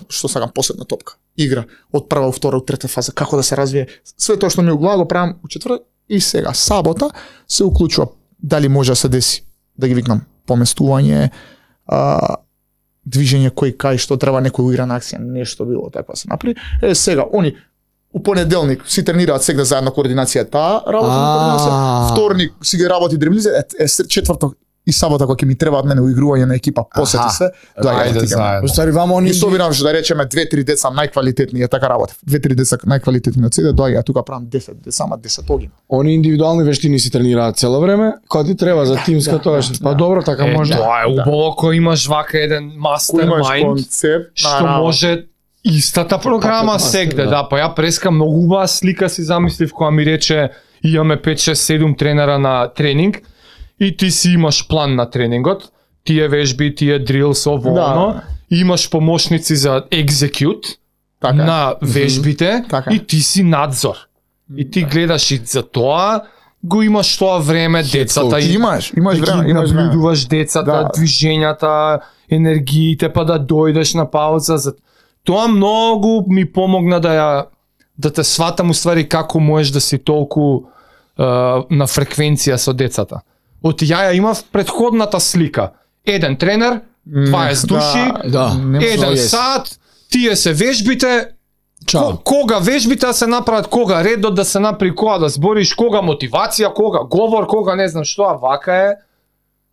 што сакам последна топка. Игра од прва во втора, од трета фаза, како да се развие. Све тоа што ми углава го правам у четврток и сега сабота се уклучува дали може да се деси да ги викнам поместување, движење кој кај што треба некој уиграна акција, нешто било таква се направи. Сега они у понеделник си тренираат сегде заедно координација таа работа на координација. Вторник си ги работи дриблизи, четврток и сабота кога ќе ми требаат мене уигрување на екипа, посети се, ајде заедно. Уствари вамо они и собирам што да речеме 2-3 деца најквалитетни, е така работа. 2-3 деца најквалитетни од седе доаѓаат тука правам 10 деца, ама 10 огина. Они индивидуални вештини си тренираат цело време, кога ти треба за тимска тоа што. Па добро, така може. Тоа е убаво кога имаш вака еден мастермајнд што може истата програма сегде, да, па ја преска многу убава слика си замислив кога ми рече имаме 5-6-7 тренера на тренинг и ти си имаш план на тренингот, тие вежби, тие дрилс, ово, имаш помошници за екзекют на вежбите и ти си надзор. И ти гледаш и за тоа го имаш тоа време, децата имаш време, имаш наблюдуваш децата, движењата, енергиите, па да дојдеш на пауза. Тоа многу ми помогна да те сватам уствари како можеш да си толку на фреквенција со децата. Од ја имав предходната слика. Еден тренер, 20 души, еден сат, тие се вежбите, кога вежбите да се направат, кога редот да се направи, кога да збориш, кога мотивација, кога говор, кога не знам што, а вака е.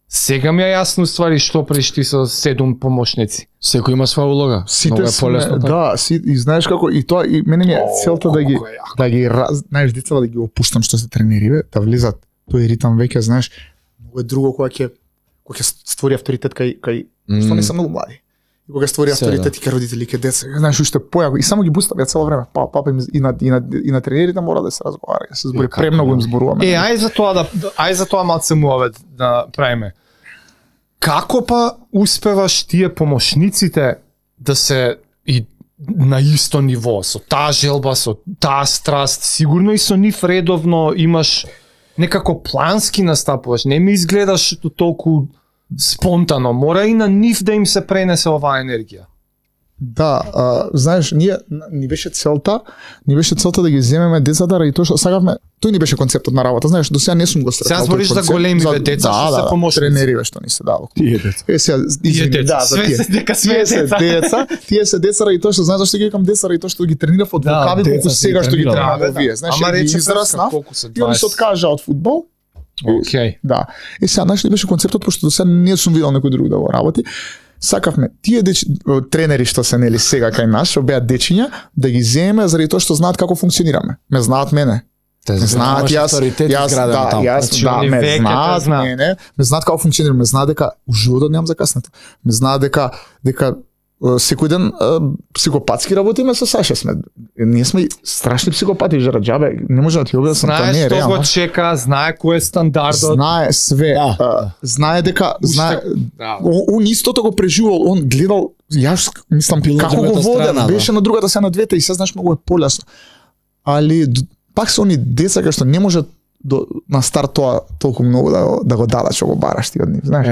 Сега ми е јасно ствари што пришти со 7 помошници. Секој има своја улога. Сите сме, да, и знаеш како и тоа и мене ми е целта да ги знаеш децата да ги опуштам што се тренери, да влизат тој ритам веќе, знаеш, многу е друго кога ќе створи авторитет кај што не се многу млади. И кога створи авторитет и кај родители, кај деца, знаеш уште појако и само ги бустам ја цело време. Папа им и на тренерите мора да се разговара, се збори премногу им зборуваме. Ај за тоа малце муавет да правиме. Како па успеваш тие помошниците да се и на исто ниво, со таа желба, со таа страст, сигурно и со нив редовно имаш некако плански настапуваш, не ми изгледаш толку спонтано, мора и на нив да им се пренесе оваа енергија. Да, знаеш, ни беше целта да ги земеме децата ради тоа што сакавме, тој ни беше концептот на работа, знаеш, до сега не сум го стрекал. Сега збориш за големиве деца што се помошници. Тренери што ни се дава. Тие деца. Сега, извини, да, за тие. Тие се деца ради тоа што знаеш зашто ги викам деца ради тоа што ги тренирав од вокави колку сега што ги тренирам овие. Знаеш, ги израснав, и они се откажа од фудбал. Океј. Да. Сега, знаеш ли беше концептот, пошто до сега не сум видел некој друг да го работи. Сакавме тие тренери што се нели сега кај нас, што беа дечиња, да ги земеме заради тоа што знаат како функционираме. Ме знаат мене. Ме знаат јас, ме знаат мене, ме знаат како функционираме, ме знаат дека у животот немам закаснато. Ме знаат дека секој ден психопатски работиме со Саша сме. Ние сме страшни психопати, жара џабе, не може да ти објаснам, тоа не е реално. Знае што го чека, знае кој е стандардот. Знае све. Знае дека он истото го преживувал, он гледал, јас мислам како го водат, беше на другата се на двете и се знаеш многу е полесно. Али пак се они деца кај што не може на старт тоа толку многу да го дадат што го бараш ти од нив, знаеш.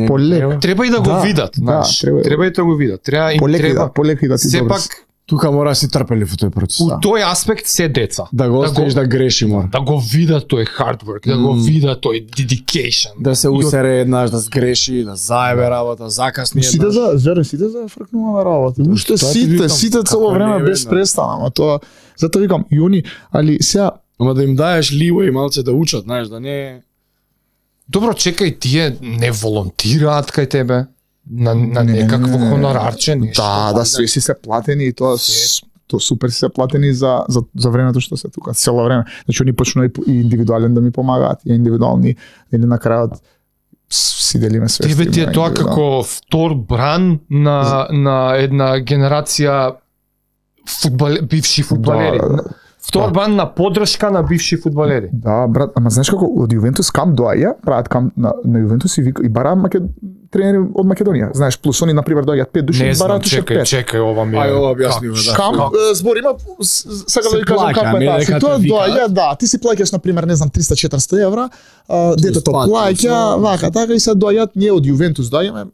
Полека. Треба и да го видат, знаеш. Треба и да го видат. Треба им треба. Полека и да ти добре. Тука мора да си трпелив во тој процес. У тој аспект се деца. Да го оставиш да греши мора. Да го видат тој hard work, да го видат тој dedication. Да се усере еднаш, да сгреши, да заебе работа, закасни еднаш. Сите за фркнуваме работа. Уште сите цело време без престана, ама тоа затоа викам и они, али сега ама да им даеш ливо и малце да учат, знаеш, да не. Добро, чекај, тие не волонтираат кај тебе на некакво хонорарче, нешто. Да, све си се платени и тоа супер си се платени за времето што се тука, цело време. Значи они почнаа и индивидуален да ми помагаат, и индивидуални или на крајот си делиме све. Тебе ти е тоа како втор бран на една генерација бивши фудбалери. Втор бран на поддршка на бивши фудбалери. Да, брат, ама знаеш како од Јувентус камп доаѓа, прават камп на Јувентус и бара тренери од Македонија. Знаеш, плюс они на пример доаѓаат 5 души, бараат уште 5. Чекај, ова ми е. Ај, ова објасни го, да. Камп зборима, сакам да ви кажам како е таа. Тоа доаѓа, да, ти си плаќаш на пример, не знам, 300-400 евра, детето плаќа, вака, така и се доаѓаат, ние од Јувентус доаѓаме,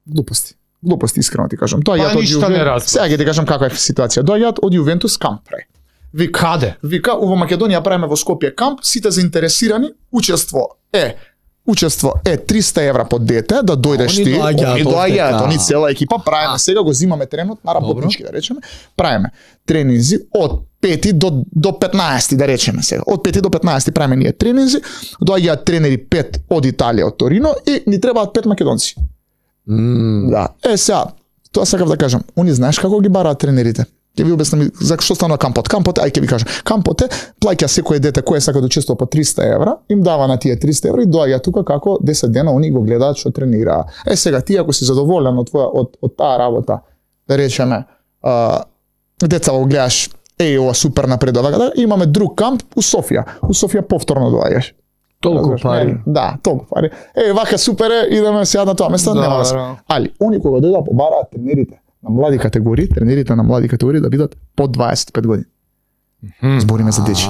глупости искрено ти кажам. Доаѓаат од Јувентус. Сега ќе ти кажам каква е ситуација. Доаѓаат од Јувентус камп прај. Каде? Вика, во Македонија правиме во Скопје камп, сите заинтересирани, учество е 300 евра по дете, да дојдеш ти, они доаѓаат, они цела екипа, правиме сега, го зимаме тренот на работнички, да речеме, правиме тренинзи од 5 до 15, да речеме сега. Од 5 до 15 правиме ние тренинзи, доаѓаат тренери 5 од Италија, од Торино и ни требаат 5 македонци. Да, сега, тоа сакав да кажам, они знаеш како ги бараат тренерите? Ќе ви објаснам за што станува кампот. Кампот, ај ќе ви кажам. Кампот е плаќа секој дете кој сака да учествува по 300 евра, им дава на тие 300 евра и доаѓа тука како 10 дена они го гледаат што тренира. Сега ти ако си задоволен од таа работа, да речеме, деца го гледаш, ова супер напредува, имаме друг камп у Софија. У Софија повторно доаѓаш. Толку пари. Да, толку пари. Вака супер е, идеме сега на тоа место, нема да. Али они кога дојдат побараат тренерите на млади категории, тренерите на млади категории да бидат под 25 години. Збориме за дечи.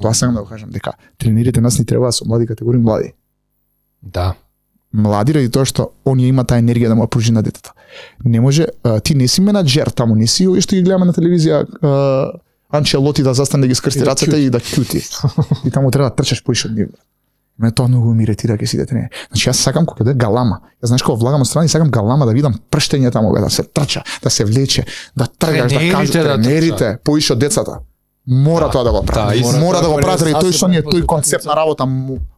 Тоа сакам да го кажам дека тренерите нас ни треба со млади категории, млади. Да. Млади ради тоа што оние има таа енергија да му ја пружи на детето. Не може, ти не си менаџер таму, не си што ги гледаме на телевизија Анчелоти да застане да ги скрсти рацете и да кјути. И таму треба да трчаш поише од нив. Ме тоа многу ми иретира ке сите тренери. Значи јас сакам кога да галама. Јас знаеш кога влагам од страна и сакам галама да видам прштење таму да се трча, да се влече, да тргаш, да кажеш тренерите поише од децата. Мора тоа да го прави. Мора да го прави тој што ние тој концепт на работа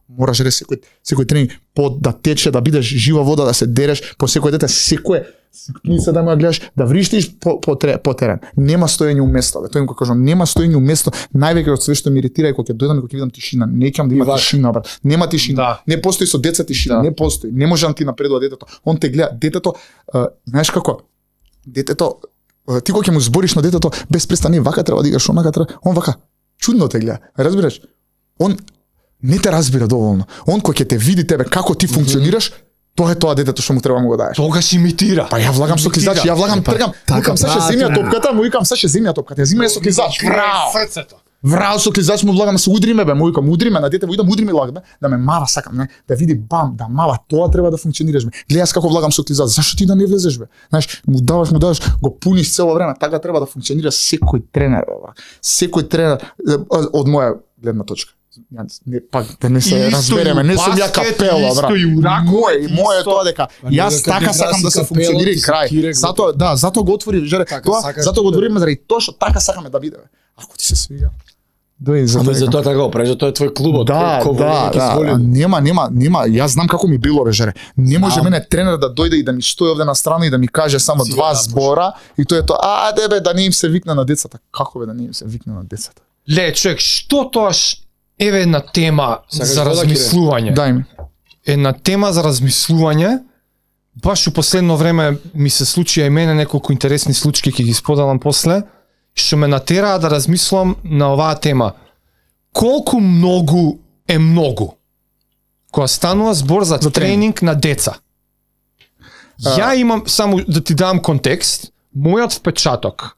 мораш да секој тренинг да тече, да бидеш жива вода, да се дереш по секој дете, секој се да му гледаш, да вриштиш по терен. Нема стоење у место, тоа им го кажам, нема стоење у место, највеќе од све што ми иретира е кога ќе дојдам и кога ќе видам тишина, не ќе да има тишина, брат. Нема тишина. Не постои со деца тишина, не постои. Не може да ти напредува детето. Он те гледа, детето, знаеш како? Детето, ти кога ќе му збориш на детето, без престани вака треба да играш, онака треба, он вака чудно те гледа. Разбираш? Он не те разбира доволно. Он кога ќе те види тебе како ти функционираш, Тоа е тоа детето што му треба да му го даеш. Тогаш имитира. Па ја влагам со клизач, ја влагам, тргам, викам саше земја топката, му викам саше земја топката, ја земја со клизач. Срцето. Врау со клизач му влагам, се удриме бе, му викам, удриме на дете, му идам удриме лагбе, да ме мава сакам, не, да види бам, да мава, тоа треба да функционираш бе. Гледаш како влагам со клизач, зашто ти да не влезеш бе? Знаеш, му даваш, го пуниш цело време, така треба да функционира секој тренер бе. Секој тренер од моја гледна точка. Не, пак да не се разбереме, не сум ја капела, брат. Мој е тоа дека јас така сакам да се функционира крај. Затоа го отвори, жаре, тоа, затоа го отвориме заради тоа што така сакаме да биде. Ако ти се свига. Ама за тоа така го правиш, тоа е твој клубот, нема, јас знам како ми било бе, жаре. Не може мене тренер да дојде и да ми стои овде на страна и да ми каже само два збора и тоа е тоа, бе, да не им се викне на децата. Како бе да не им се викне на децата? Ле, човек, што тоа еве една тема за размислување. Дај ми. Една тема за размислување. Баш у последно време ми се случи и мене неколку интересни случаи, ќе ги споделам после, што ме натераа да размислам на оваа тема. Колку многу е многу кога станува збор за тренинг на деца? Ја имам, само да ти дам контекст, мојот впечаток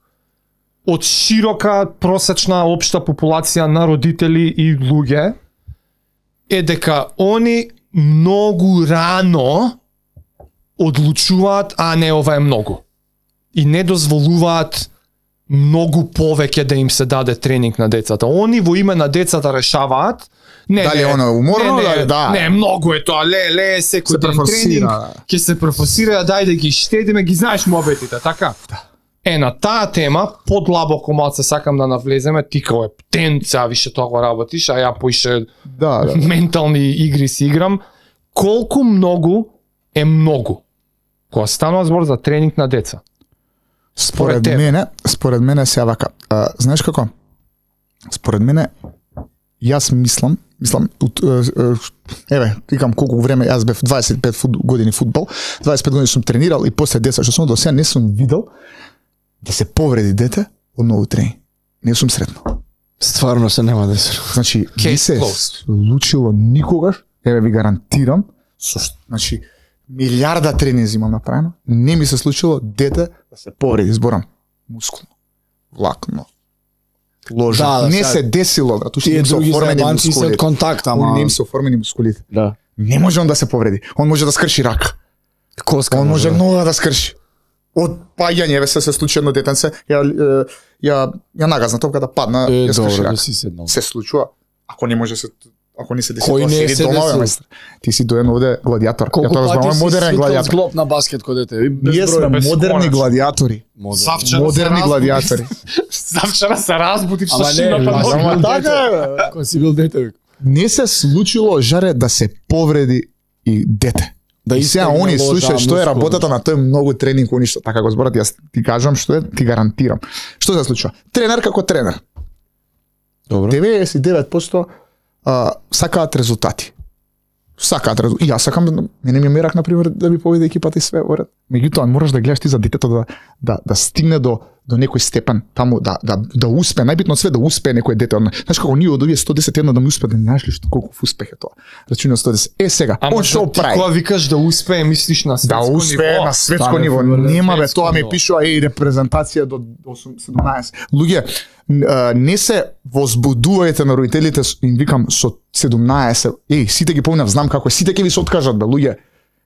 од широка просечна општа популација на родители и луѓе е дека они многу рано одлучуваат, не ова е многу. И не дозволуваат многу повеќе да им се даде тренинг на децата. Они во име на децата решаваат, дали оно уморно, не, многу е тоа, секој ден тренинг, ќе се профасира, дај да ги штедиме, ги знаеш мобетите, така? На таа тема, подлабоко малце сакам да навлеземе, ти као е птенца, више тоа го работиш, а ја поише ментални игри си играм. Колку многу е многу кога станува збор за тренинг на деца? Според мене се вака. Знаеш како? Според мене, јас мислам, викам колку време, јас бев 25 години фудбал, 25 години сум тренирал и после деца што сум до сега не сум видел да се повреди дете од ново тренинг. Не сум сретнал. Стварно се нема да се. Значи, не се случило никогаш, ви гарантирам, значи, милиарда тренинзи имам направено, не ми се случило дете да се повреди, зборам, мускулно, влакно, ложа. Не се десило, брат, уште не се оформени мускулите. Контакт, ама... Не им се оформени мускулите. Да. Не може он да се повреди. Он може да скрши рака. Коска он може нога да скрши. Од паѓање се случи едно детенце, ја нагазна топката, падна, ја скрши рака. Се случува. Ако не се деси тоа, седи дома, мајстер. Ти си доен овде гладиатор. Ја тоа зборам модерен гладиатор. Зглоп на баскет кога дете. Ние сме модерни гладиатори. Модерни гладиатори. Завчера се разбудив со шината. Ама така е. Кога си бил дете. Не се случило, жаре, да се повреди и дете. И сега они слушаат што е работата на тој многу тренинг, они што така го зборат, јас ти кажам што е, ти гарантирам. Што се случува? Тренер како тренер. Добро. 99% сакаат резултати. И јас сакам, мене ми мерак, например, да ми поведе екипата и све во ред. Меѓутоа, мораш да гледаш ти за детето да стигне до некој степен, таму да успе, најбитно од све да успее некој дете. Знаеш како ние од овие 110 да ми успе, да знаеш ли што колку успех е тоа? Рачуна 110. Сега, он што прави? Кога викаш да успее, мислиш на светско ниво? Да успее на светско ниво. Нема бе, тоа ми пишува репрезентација до 17. Луѓе, не се возбудувајте на родителите, им викам со 17. Сите ги помнам, знам како е, сите ќе ви се откажат бе, луѓе.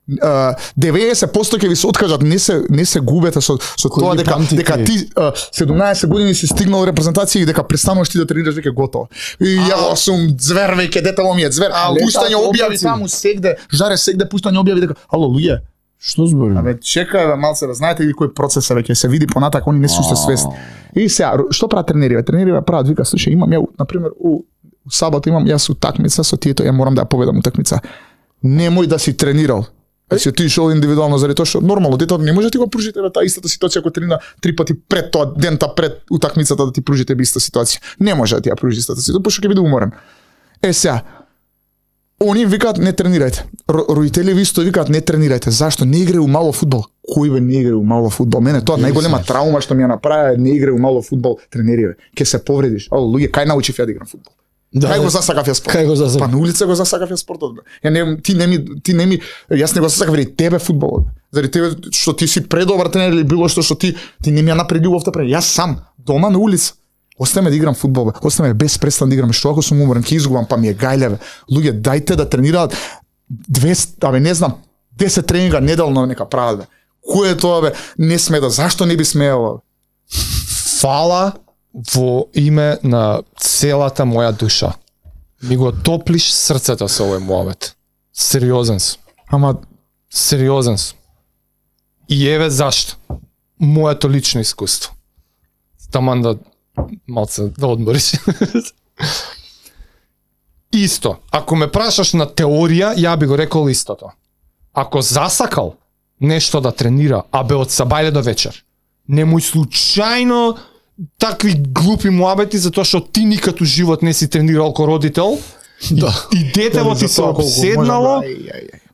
90% ќе ви се откажат, не се губете со тоа дека ти 17 години си стигнал репрезентација и дека престануваш ти да тренираш, веќе готово. И ја сум звер, веќе детето ми е звер. Пуштање објави таму сегде, жаре сегде пуштање објави дека ало луѓе, што зборим? Чекај малце, знаете ли кој процес е веќе, се види понатак, они не се уште свесни. И сега, што прават тренериве? Тренериве прават, вика, слушај, имам ја, например, у сабота имам јас утакмица со тието, ја морам да ја победам утакмица. Немој да си тренирал. Се ти шол индивидуално заради тоа што нормално детето не може да ти го пружите таа истата ситуација ако тренира 3 пати пред тоа дента пред утакмицата да ти пружите иста ситуација. Не може да ти ја пружи истата ситуација, пошто ќе биде уморен. Сега, они викаат не тренирајте. Родители ви исто викаат не тренирајте. Зашто? Не играју мало фудбал. Кој бе не играју мало фудбал? Мене тоа најголема травма што ми ја направи, не играју мало фудбал, тренериве. Ке се повредиш. Луѓе, кај научив ја да играм фудбал? Кај го засакав ја спортот? Кај го засакав? Па на улица го засакав ја спортот, бе. Ти не ми, јас не го засакав заради тебе фудбалот. Заради тебе што ти си предобар тренер или било што ти не ми ја направи љубовта пред. Јас сам дома на улица. Оставаме да играм фудбал, бе. Оставаме без престан да играм, што ако сум уморен, ќе изгубам, па ми е гајле, бе. Луѓе, дајте да тренираат 10 тренинга неделно нека прават, бе. Кој е тоа, бе? Не сме да, зашто не би смеело? Фала во име на целата моја душа. Ми го топлиш срцето со овој муабет. Сериозен сум. Ама Сериозен сум. И еве зашто. Моето лично искуство. Таман да малце да одмориш. Исто. Ако ме прашаш на теорија, ја би го рекол истото. Ако засакал нешто да тренира, а бе од сабајле до вечер, немој случајно такви глупи муабети затоа што ти никад у живот не си тренирал ко родител. Да. И детево ти се обседнало.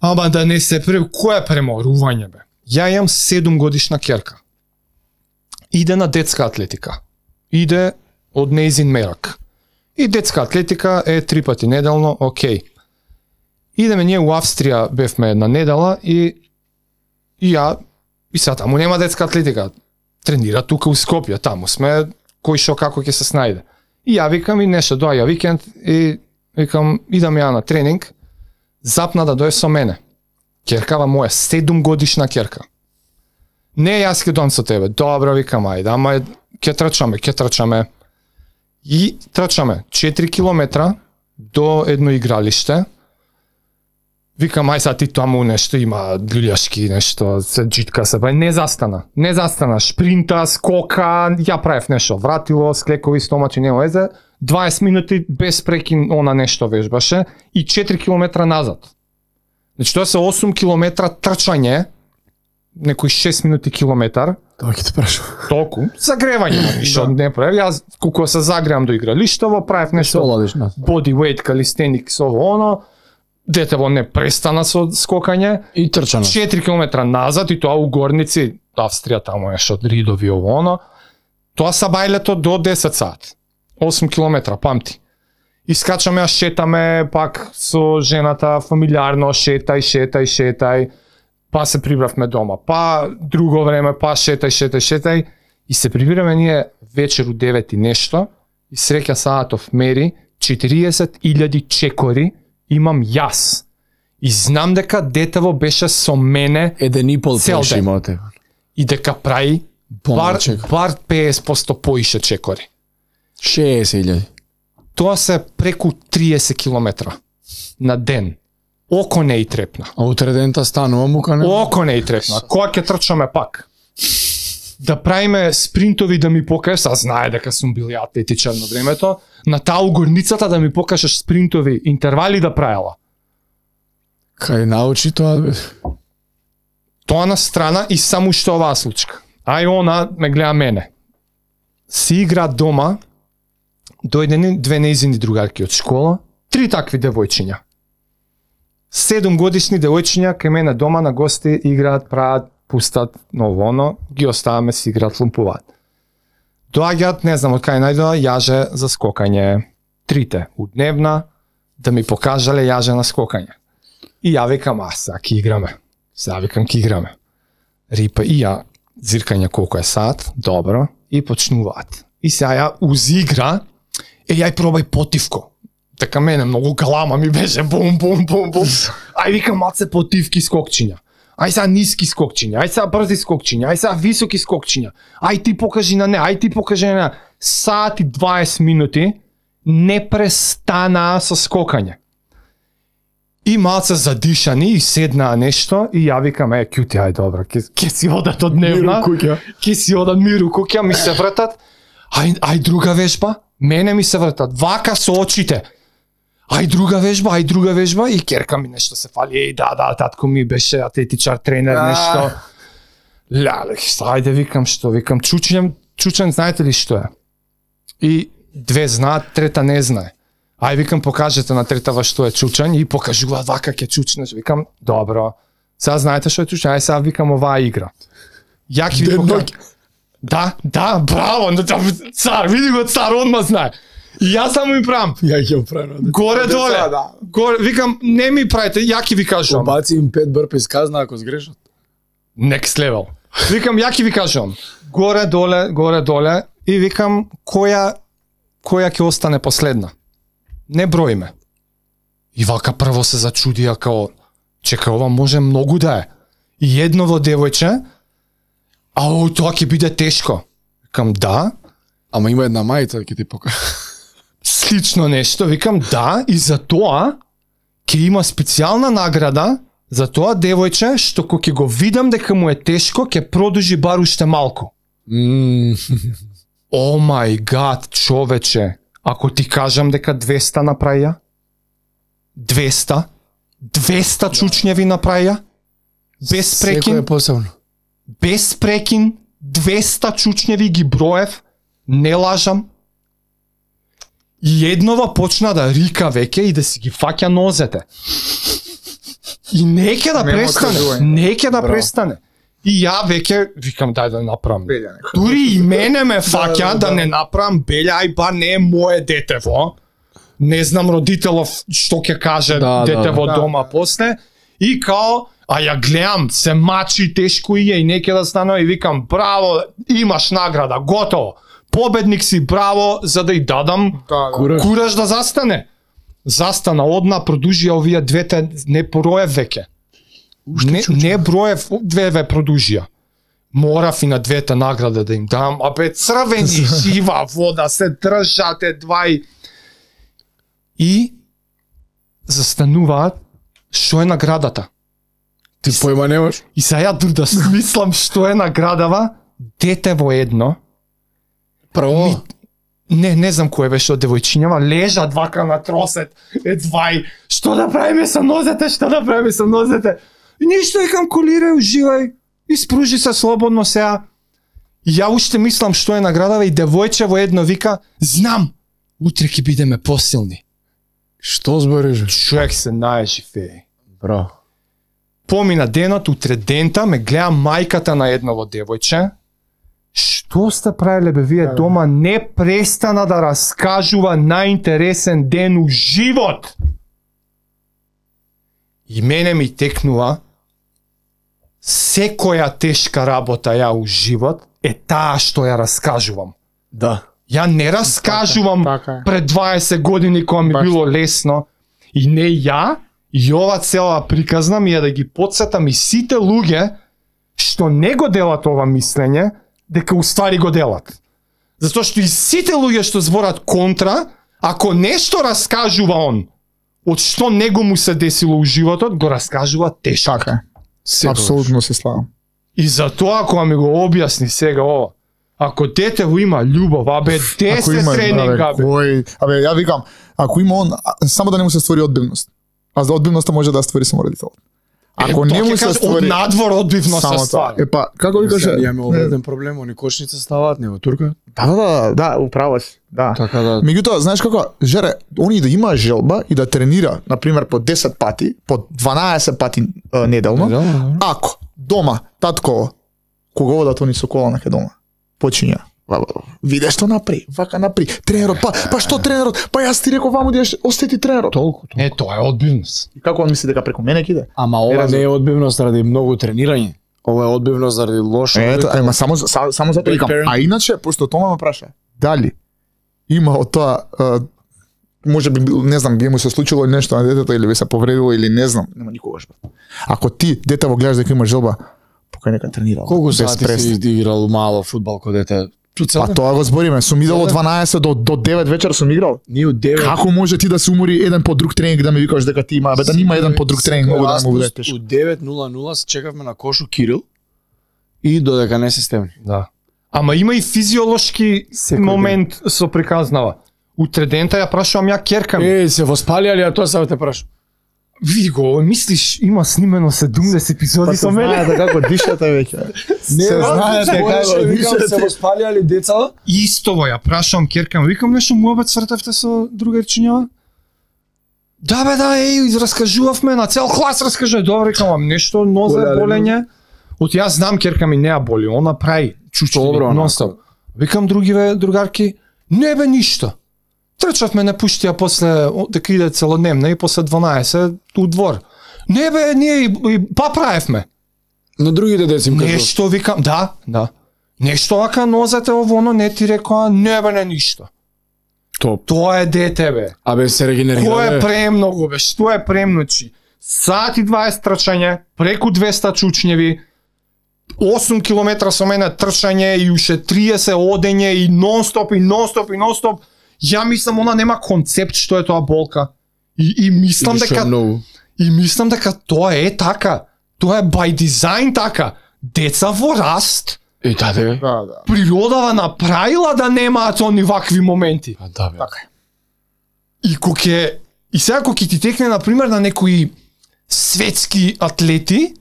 Ама да не се кој е преморување, бе? Ја имам 7 годишна ќерка. Иде на детска атлетика. Иде од нејзин мерак. И детска атлетика е 3 пати неделно, окей. Идеме ние у Австрија, бевме една недела и ја и сега таму нема детска атлетика. Тренира тука у Скопје, таму сме кој шо како ќе се снајде. И ја викам и нешто доаѓа викенд и викам идам ја на тренинг, запна да дојде со мене. Ќеркава моја, 7 годишна ќерка. Не, јас ќе доам со тебе. Добро, викам, ајде, ама ќе трчаме. И трчаме 4 километра до едно игралиште. Викам, ај сега ти таму нешто има љулјашки, нешто, се джитка се, не застана, шпринта, скока, ја правев нешто, вратило, склекови, стомачи, нема везе, 20 минути без прекин она нешто вежбаше и 4 километра назад. Значи тоа се 8 километра трчање, некои 6 минути километар. Тоа ќе те прашам. Толку. Загревање, ништо не правев. Јас кога се загревам до игралиштево, правев нешто. Body weight, калистеникс, оно. Детево не престана со скокање. И трчано. 4 километра назад и тоа у Горници, Австрија, таму е што ридови оно. Тоа сабајлето до 10 сат. 8 километра, памти. Искачаме, а шетаме пак со жената, фамилиарно, шетај. Па се прибравме дома, па друго време, па шетај. И се прибираме ние вечер у 9 и нешто и среќа Саатов мери 40.000 чекори имам јас. И знам дека детево беше со мене 1,5 цел поише ден. има тебе. И дека прави бар 50% поише чекори. 60.000. Тоа се преку 30 километра на ден. Око не и трепна. А утре дента станува мука не? Око не и трепна. Кога ќе трчаме пак? Да правиме спринтови да ми покажеш, а знае дека сум бил атлетичар на времето, на таа угорницата да ми покажеш спринтови интервали да правела. Кај научи тоа, бе? Тоа на страна и само што оваа случка. Ај она ме гледа мене. Си игра дома, дојдени 2 нејзини другарки од школа, 3 такви девојчиња. 7 годишни девојчиња кај мене дома на гости играат, прават, пустат ново оно, ги оставаме си играат, лумпуваат. Доаѓаат, не знам од кај најдоа, јаже за скокање. 3 удневна, да ми покажале јаже на скокање. И ја викам, сега ки играме. Рипа и ја зиркање колку е сат, добро, и почнуваат. И сега ја узигра, јај пробај потивко. Така мене многу галама ми беше бум. Ај викам малце потивки скокчиња. Ај сега ниски скокчиња, ај сега брзи скокчиња, ај сега високи скокчиња. Ај ти покажи на не, Сат и 20 минути не престана со скокање. И малце задишани и седнаа нешто и ја викам, кјути, ај добро, ќе си одат од дневна. Ќе си одат миру куќа, ми се вратат. Ај друга вежба, мене ми се вратат. Вака со очите. Ај друга вежба и ќерка ми нешто се фали. Да, татко ми беше атлетичар, тренер, нешто. Ајде викам, чучен, знаете ли што е? И 2 знаат, 3 не знае. Ај викам, покажете на третава што е чучен и покажуваат вака ќе чучнеш. Викам, добро. Сега знаете што е чучен? Ај сега викам оваа игра. Ја ќе ви покажам. Да, браво, цар, види го цар, одма знае. И јас само им правам. Ја ќе оправам. Горе доле. Да. Горе, викам, не ми правите, ја ќе ви кажам. Обаци им 5 бърпис казна ако сгрешат. Next level. Викам, ја ќе ви кажам. Горе доле и викам која ќе остане последна. Не броиме. И вака прво се зачудија као чека, ова може многу да е. И едново девојче, тоа ќе биде тешко. Викам да. Ама има една мајца ќе ти покажа. Слично нешто, викам да, и за тоа ќе има специјална награда за тоа девојче што кога ќе го видам дека му е тешко, ќе продолжи бар уште малку. О мај гад, човече, ако ти кажам дека 200 направија? 200 чучњеви направија? Без прекин? Секој е посебно. Без прекин, 200 чучњеви ги броев, не лажам. И еднова почна да рика веќе и да си ги фаќа нозете. И не ќе да престане. И ја веќе викам дај да направам. Дури и мене ме фаќа да не направам белја, ај ба не е мое детево. Не знам родителов што ќе каже детево дома после. И као, а ја гледам, се мачи тешко и не ќе да станува и викам браво, имаш награда, готово. Победник си, браво, за да и дадам кураж да застане. Застана, одна, продужија овие двете, не броев веќе. Не броев, две продужија. Морав и на двете награда да им дам, абе црвени, жива вода, се држате двај. И застануваат, што е наградата? Ти појма немаш? И сега ја да смислам што е наградава, дете во едно. Право? Не знам кој беше од девојчињава, лежат вака на тросет, двај, што да правиме со нозете, И ништо викам колирај, уживај, испружи се слободно сега. И ја уште мислам што е наградава и девојче во едно вика, знам, утре ќе бидеме посилни. Што збориш? Човек се најживее. Браво. Помина денот, утре дента, ме гледа мајката на едново девојче. Што сте правиле бе вие дома? Не престана да раскажува најинтересен ден у живот. И мене ми текнува секоја тешка работа ја у живот е таа што ја раскажувам. Да. Ја не раскажувам пред 20 години кога ми било лесно. И не ја, и ова цела приказна ми е да ги потсетам и сите луѓе што не го делат ова мислење, дека уствари го делат. Затоа што и сите луѓе што зборат контра, ако нешто раскажува он, од што него му се десило у животот, го раскажува тешко. Така. Апсолутно се славам. И затоа кога ми го објасни сега ова, ако детево има љубов, абе 10 тренинга, абе ја викам, ако има он, само да не му се створи одбивност. А за одбивноста може да створи само родител. Ако не му се створи од надвор одбивност се ствари. Епа, како ви каже? Ја имаме одреден проблем, они кошница ставаат, него турка. Да, управо си. Да. Така да. Меѓутоа, знаеш како, Жере, они да има желба и да тренира, на пример по 10 пати, по 12 пати неделно. Ако дома татко кога одат они со кола на дома, почиња. Виде што напри, вака напри. Тренерот, па што тренерот? Па јас ти реков ваму да остети тренерот. Толку. Тоа е одбивност. И како он мисли дека преку мене ќе иде? Ама ова не е одбивност заради многу тренирање. Ова е одбивност заради лошо. Ето, ама само затоа викам. А иначе, пошто Тома ме праша, дали има од тоа може би, не знам, би му се случило нешто на детето или би се повредило или не знам, нема никогаш. Ако ти детево гледаш дека има желба, покај нека тренира. Колку сати си играл мало фудбал кога дете? Па тоа го збориме, сум идел од 12 до 9 вечер сум играл. Ние од 9. Како може ти да се умори еден по друг тренинг да ми викаш дека ти има, да нема еден по друг тренинг, многу да му буде тешко. Од 9:00 се чекавме на Кошо Кирил и додека не се стемни. Да. Ама има и физиолошки момент со приказнава. Утре дента ја прашувам ја керка ми. Се воспалија ли, а тоа само те прашувам. Види го, мислиш, има снимено 70 епизоди со мене. Знаете како дишате веќе. Не знаете како дишате. Се воспалија ли деца? Истово ја прашувам керка ми, викам нешто муабет свртевте со другарчињава? Да бе, да, раскажувавме на цел клас раскажува. Добре, викам, нешто нозе болење. Од јас знам керка ми не ја боли, она прави чучки нонстоп. Викам другиве другарки, не бе ништо. Трчавме, не пуштија после, дека иде целодневна и после 12 у двор. Не бе, ние и па правевме. На другите деца им кажував. Нешто викам, да. Нешто вака нозете ово, не ти рекоа, не бе, не ништо. Топ. Тоа е дете, бе. Абе се регенерира. Тоа е премногу, бе, што е премночи. Сат и 20 трчање, преку 200 чучњеви, 8 километра со мене трчање и уште 30 одење и нон-стоп. Ја мислам она нема концепт што е тоа болка. И мислам дека тоа е така. Тоа е by design така. Деца во раст. Да. Природава направила да немаат они вакви моменти. Да, бе. Така. И сега кога ти текне на пример на некои светски атлети,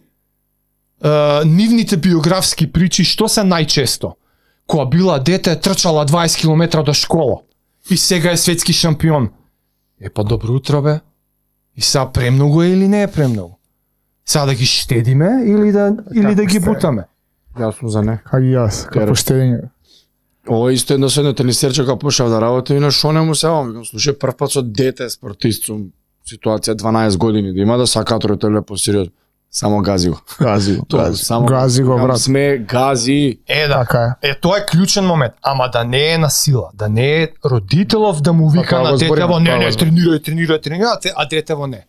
нивните биографски причи што се најчесто? Кога била дете, трчала 20 км до школа и сега е светски шампион. Па добро утро, бе. И сега премногу е или не е премногу? Сега да ги штедиме или да ги бутаме? Јас сум за не. Како и јас, како штедење. Ова исто едно седно тенисерче кога почнав да работам и на шо не му се викам, слушај, прв пат со дете спортист сум, ситуација 12 години да има да сакаат родителите по сериозно. Само гази го. Гази го, брат. Сме гази. Така е. Тоа е клучен момент, ама да не е на сила, да не е родителов да му вика на детево не, тренирај, а детево не.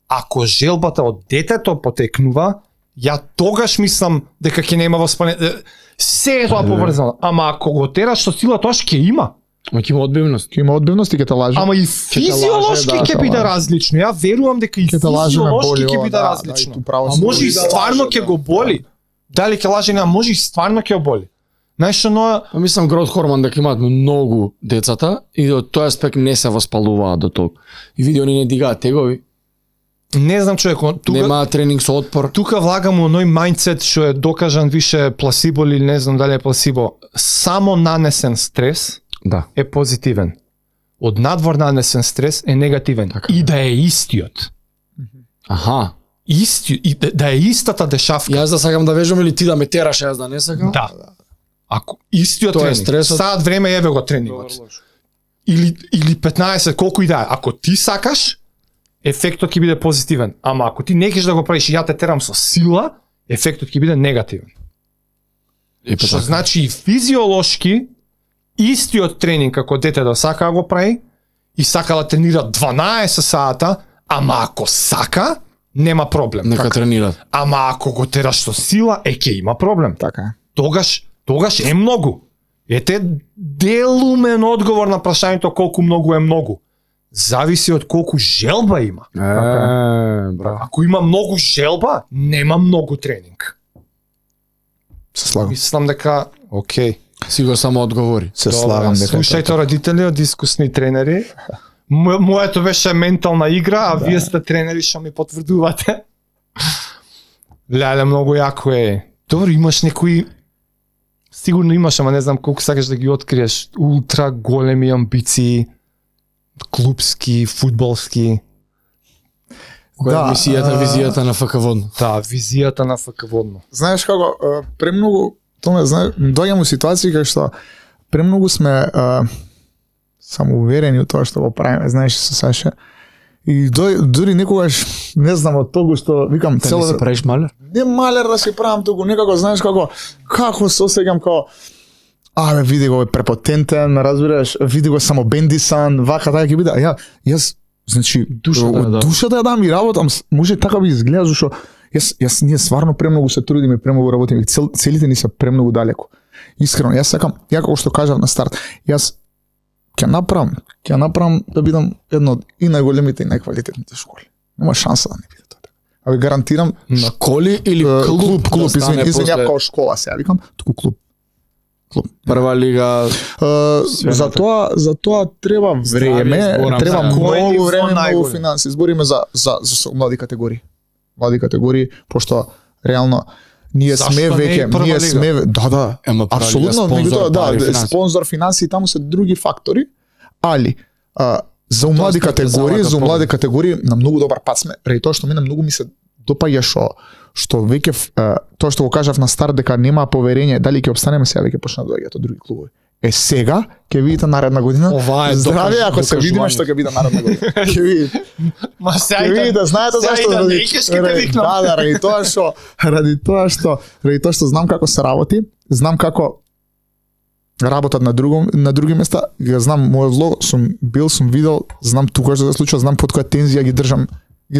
Ако желбата од детето потекнува, ја тогаш мислам дека ќе нема воспаление. Се е тоа поврзано, ама ако го тераш со сила, тоа ќе има. Ама ќе има одбивност. Ќе има одбивност и ќе те лаже. Ама и физиолошки ќе биде различно. Ја верувам дека и физиолошки ќе биде различно. А може и стварно ќе го боли. Дали ќе лаже, не, може и стварно ќе го боли. Знаеш што, мислам грот хормон дека имаат многу децата и од тој аспект не се воспалуваат до толку. И види они не дигаат тегови. Не знам човек, нема тренинг со отпор. Тука влагам оној мајндсет што е докажан више пласибо или не знам дали е пласибо. Само нанесен стрес е позитивен. Од надвор нанесен стрес е негативен. Така. И да е истиот. Аха. Да е истата дешавка. Јас да сакам да вежам или ти да ме тераш, јас да не сакам? Да. Ако истиот тренинг, стресот... саат време еве го тренингот. Или 15, колку и да е. Ако ти сакаш, ефектот ќе биде позитивен. Ама ако ти не кеш да го правиш и ја те терам со сила, ефектот ќе биде негативен. Што значи и физиолошки, истиот тренинг како дете да сака да го прави, и сака да тренира 12 сата, ама ако сака, нема проблем. Нека тренира. Ама ако го тераш со сила, ќе има проблем. Така е. Тогаш е многу. Ете делумен одговор на прашањето колку многу е многу. Зависи од колку желба има. Ако има многу желба, нема многу тренинг. Се слагам. Мислам дека, окей. Си го само одговори. Се слагам дека. Слушајте родители од искусни тренери. Моето беше ментална игра, а вие сте тренери што ми потврдувате. Леле, многу јако е. Добро, имаш некои... Сигурно имаш, ама не знам колку сакаш да ги откриеш. Ултра големи амбиции, клубски, фудбалски. Која е визијата на ФК Водно? Да, визијата на ФК Водно. Знаеш како, премногу, доаѓам у ситуации кај што премногу сме самоуверени у тоа што го правиме, знаеш со Саша. И дури некогаш, не знам, од толку што викам цело... Да не се правиш малер? Не малер да се правам туку, некако, знаеш како се осеќам како види го е препотентен, разбираш, види го само бендисан, вака така ќе биде. Јас значи душата ја дам и работам, може така би изгледа зашто јас ние стварно премногу се трудиме, премногу работиме, целите ни се премногу далеку. Искрено, јас сакам, ја како што кажав на старт, јас ќе направам да бидам едно од и најголемите и најквалитетните школи. Нема шанса да не биде тоа. А ви гарантирам школи или клуб, извини, ја како школа се викам, туку клуб. Прва лига. За тоа треба време, треба многу време, многу финанси. Збориме за млади категории. Млади категории, пошто реално ние сме веќе, да, апсолутно, меѓутоа спонзор, финанси, таму се други фактори, али за млади категории на многу добар пат сме, преди тоа што мене многу ми се допаѓа што веќе тоа што го кажав на старт дека нема поверење дали ќе опстанеме, сега веќе почна да доаѓаат од други клубови. сега ќе видите наредна година. Ова е здраве, ако се видиме докажување. што ќе биде наредна година. Ќе видите. Ма Ќе видите, знаете зашто? Ради тоа што знам како се работи, знам како работат на други места, ја знам мојот влог, сум видел, знам тука што се случува, знам под која тензија ги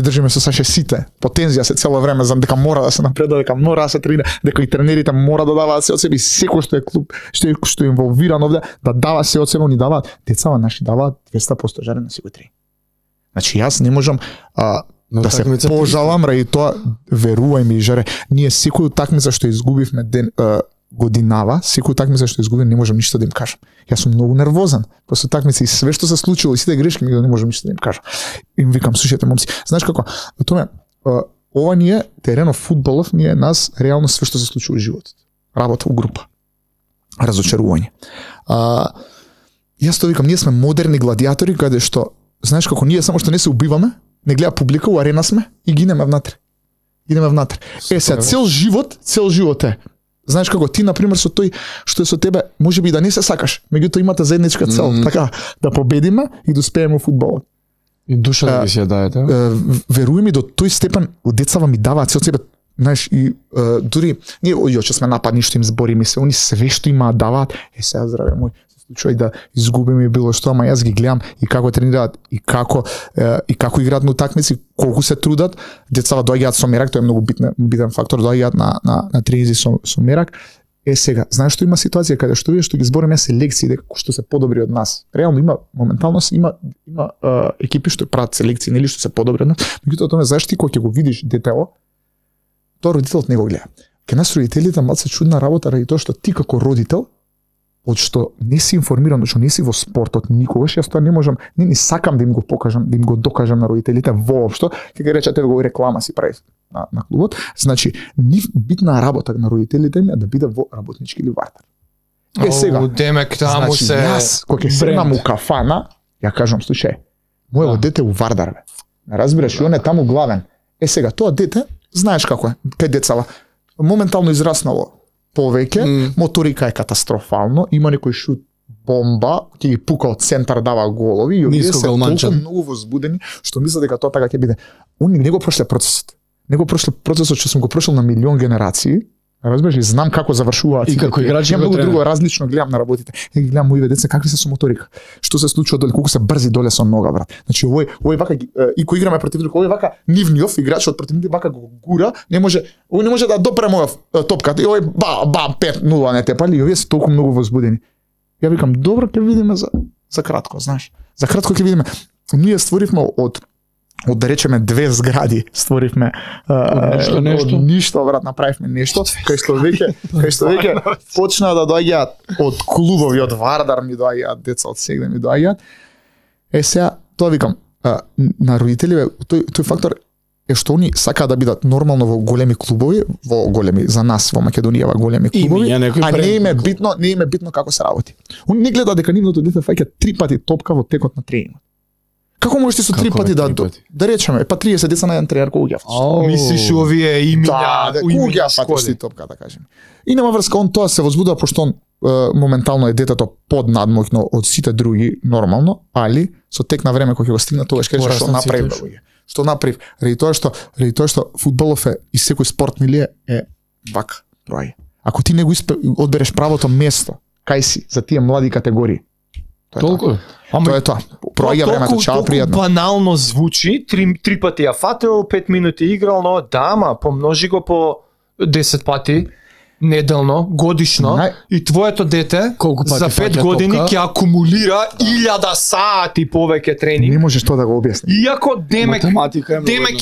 држиме со Саше сите. По тензија се цело време, знам дека мора да се напредува, дека мора да се тренира, дека и тренерите мора да даваат се од себе и секој што е клуб, што е инволвиран овде, да дава се од себе, ни даваат. Децава наши даваат 200% жаре на секој тренинг. Значи јас не можам да се пожалам ради тоа, верувај ми, жаре, ние секој такмица што изгубивме годинава, секој такмица што изгубим не можам ништо да им кажам. Јас сум многу нервозен после такмица и све што се случило и сите грешки ми не можам ништо да им кажам. Им викам, слушајте момци, знаеш како? Тоа ова ние теренов фудбалов, ние нас реално све што се случи во животот. Работа у група. Разочарување. Јас тоа викам, ние сме модерни гладиатори каде што знаеш како ние само што не се убиваме, не гледа публика, у арена сме и гинеме внатре. Сега цел живот е. Знаеш како ти на пример со тој што е со тебе, можеби и да не се сакаш, меѓутоа имате заедничка цел, така да победиме и да успееме во фудбалот. И душа да ги си ја даете. Веруј ми, до тој степен децава ми даваат се од себе, знаеш, и дури ние јоче сме нападни што им збориме се, они све што имаат даваат, сега здраве мој, случај да изгубиме било што, ама јас ги гледам и како тренираат и како играат на утакмици, колку се трудат, децава доаѓаат со мерак, тоа е многу битен фактор, доаѓаат на тренинзи со мерак. Сега, знаеш што има ситуација каде што што ги збориме се лекции дека што се подобри од нас. Реално има моментално има екипи што прават селекции, нели што се подобри од нас. Меѓутоа тоа знаеш ти кога ќе го видиш детето, тоа родителот не го гледа. Ке нас родителите малку чудна работа ради тоа што ти како родител од што не си информиран, што не си во спортот никогаш, јас тоа не можам, не сакам да им го покажам, да им го докажам на родителите воопшто, ќе ги рече тебе го реклама си прави на клубот. Значи, битна работа на родителите ми е да биде во работнички ливартар. Сега, демек таму значи, се јас кога ќе седнам у кафана, ја кажам, слушај, мојот дете у Вардар бе. Разбираш, и он е таму главен. Сега тоа дете, знаеш како е, кај децава, моментално израснало повеќе, моторика е катастрофално, има некој шут бомба, ќе ги пука од центар, дава голови и овие се толку многу возбудени што мислат дека тоа така ќе биде. Они не го прошле процесот. Не го прошле процесот што сум го прошол на милион генерации. Разбираш, знам како завршуваат и како играчи го многу друго различно гледам на работите. И гледам моите деца какви се со моторика. Што се случува доле, колку се брзи доле со нога, брат. Значи овој вака и кој играме против друг, овој вака нивниов играчот против нив вака го гура, не може да допре мојот топката и овој бам 5-0 не те пали, и овие се толку многу возбудени. Ја викам, добро, ќе видиме за кратко, знаеш. За кратко ќе видиме. Ние створивме од да речеме 2 згради, створивме нешто. Ништо, брат, направивме нешто, кај што веќе почна да доаѓаат од клубови, од Вардар ми доаѓаат, деца од Сегде ми доаѓаат. Сега, тоа викам, на родителиве, тој фактор е што они сакаат да бидат нормално во големи клубови, во големи за нас во Македонија, во големи клубови, а не им е битно како се работи. Они не гледаат дека нивното дете фаќа 3 пати топка во текот на тренингот. Како можеш ти со 3 пати да речеме, па 30 деца на еден тренер колку ги фатиш? Мислиш овие имиња, колку ги фатиш ти топка, да кажеме. И нема врска, он тоа се возбудува пошто он моментално е детето поднадмоќно од сите други нормално, али со тек на време кога ќе го стигне тогаш ќе рече што направи бе. Што направив? Ради тоа што фудбалов е и секој спорт нели е вака, проаѓа. Ако ти не го одбереш правото место, кај си за тие млади категории. Толку. Тоа е тоа. Проаѓа времето, чао, пријатно. Банално звучи, 3 пати ја фател, 5 минути играл, но да, ама помножи го по 10 пати неделно, годишно, и твоето дете за 5 години ќе акумулира 1000 сати повеќе тренинг. Не можеш тоа да го објасни. Иако демек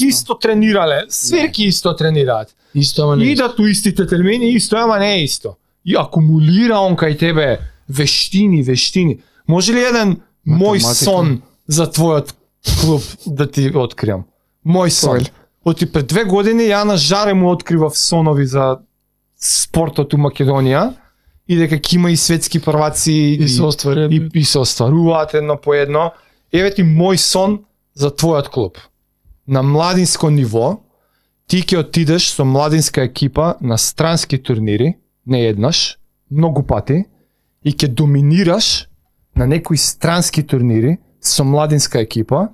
исто тренирале, сверки исто тренираат. Исто, ама не. Идат у истите термини, исто, ама не е исто. И акумулира он кај тебе вештини. Може ли еден мој сон за твојот клуб да ти откриам? Мој сон. Оти пред 2 години ја на жаре му откривав сонови за спортот у Македонија и дека ќе има и светски прваци и се остваруваат едно по едно. Еве ти мој сон за твојот клуб. На младинско ниво ти ќе отидеш со младинска екипа на странски турнири, не еднаш, многу пати, и ќе доминираш на некои странски турнири со младинска екипа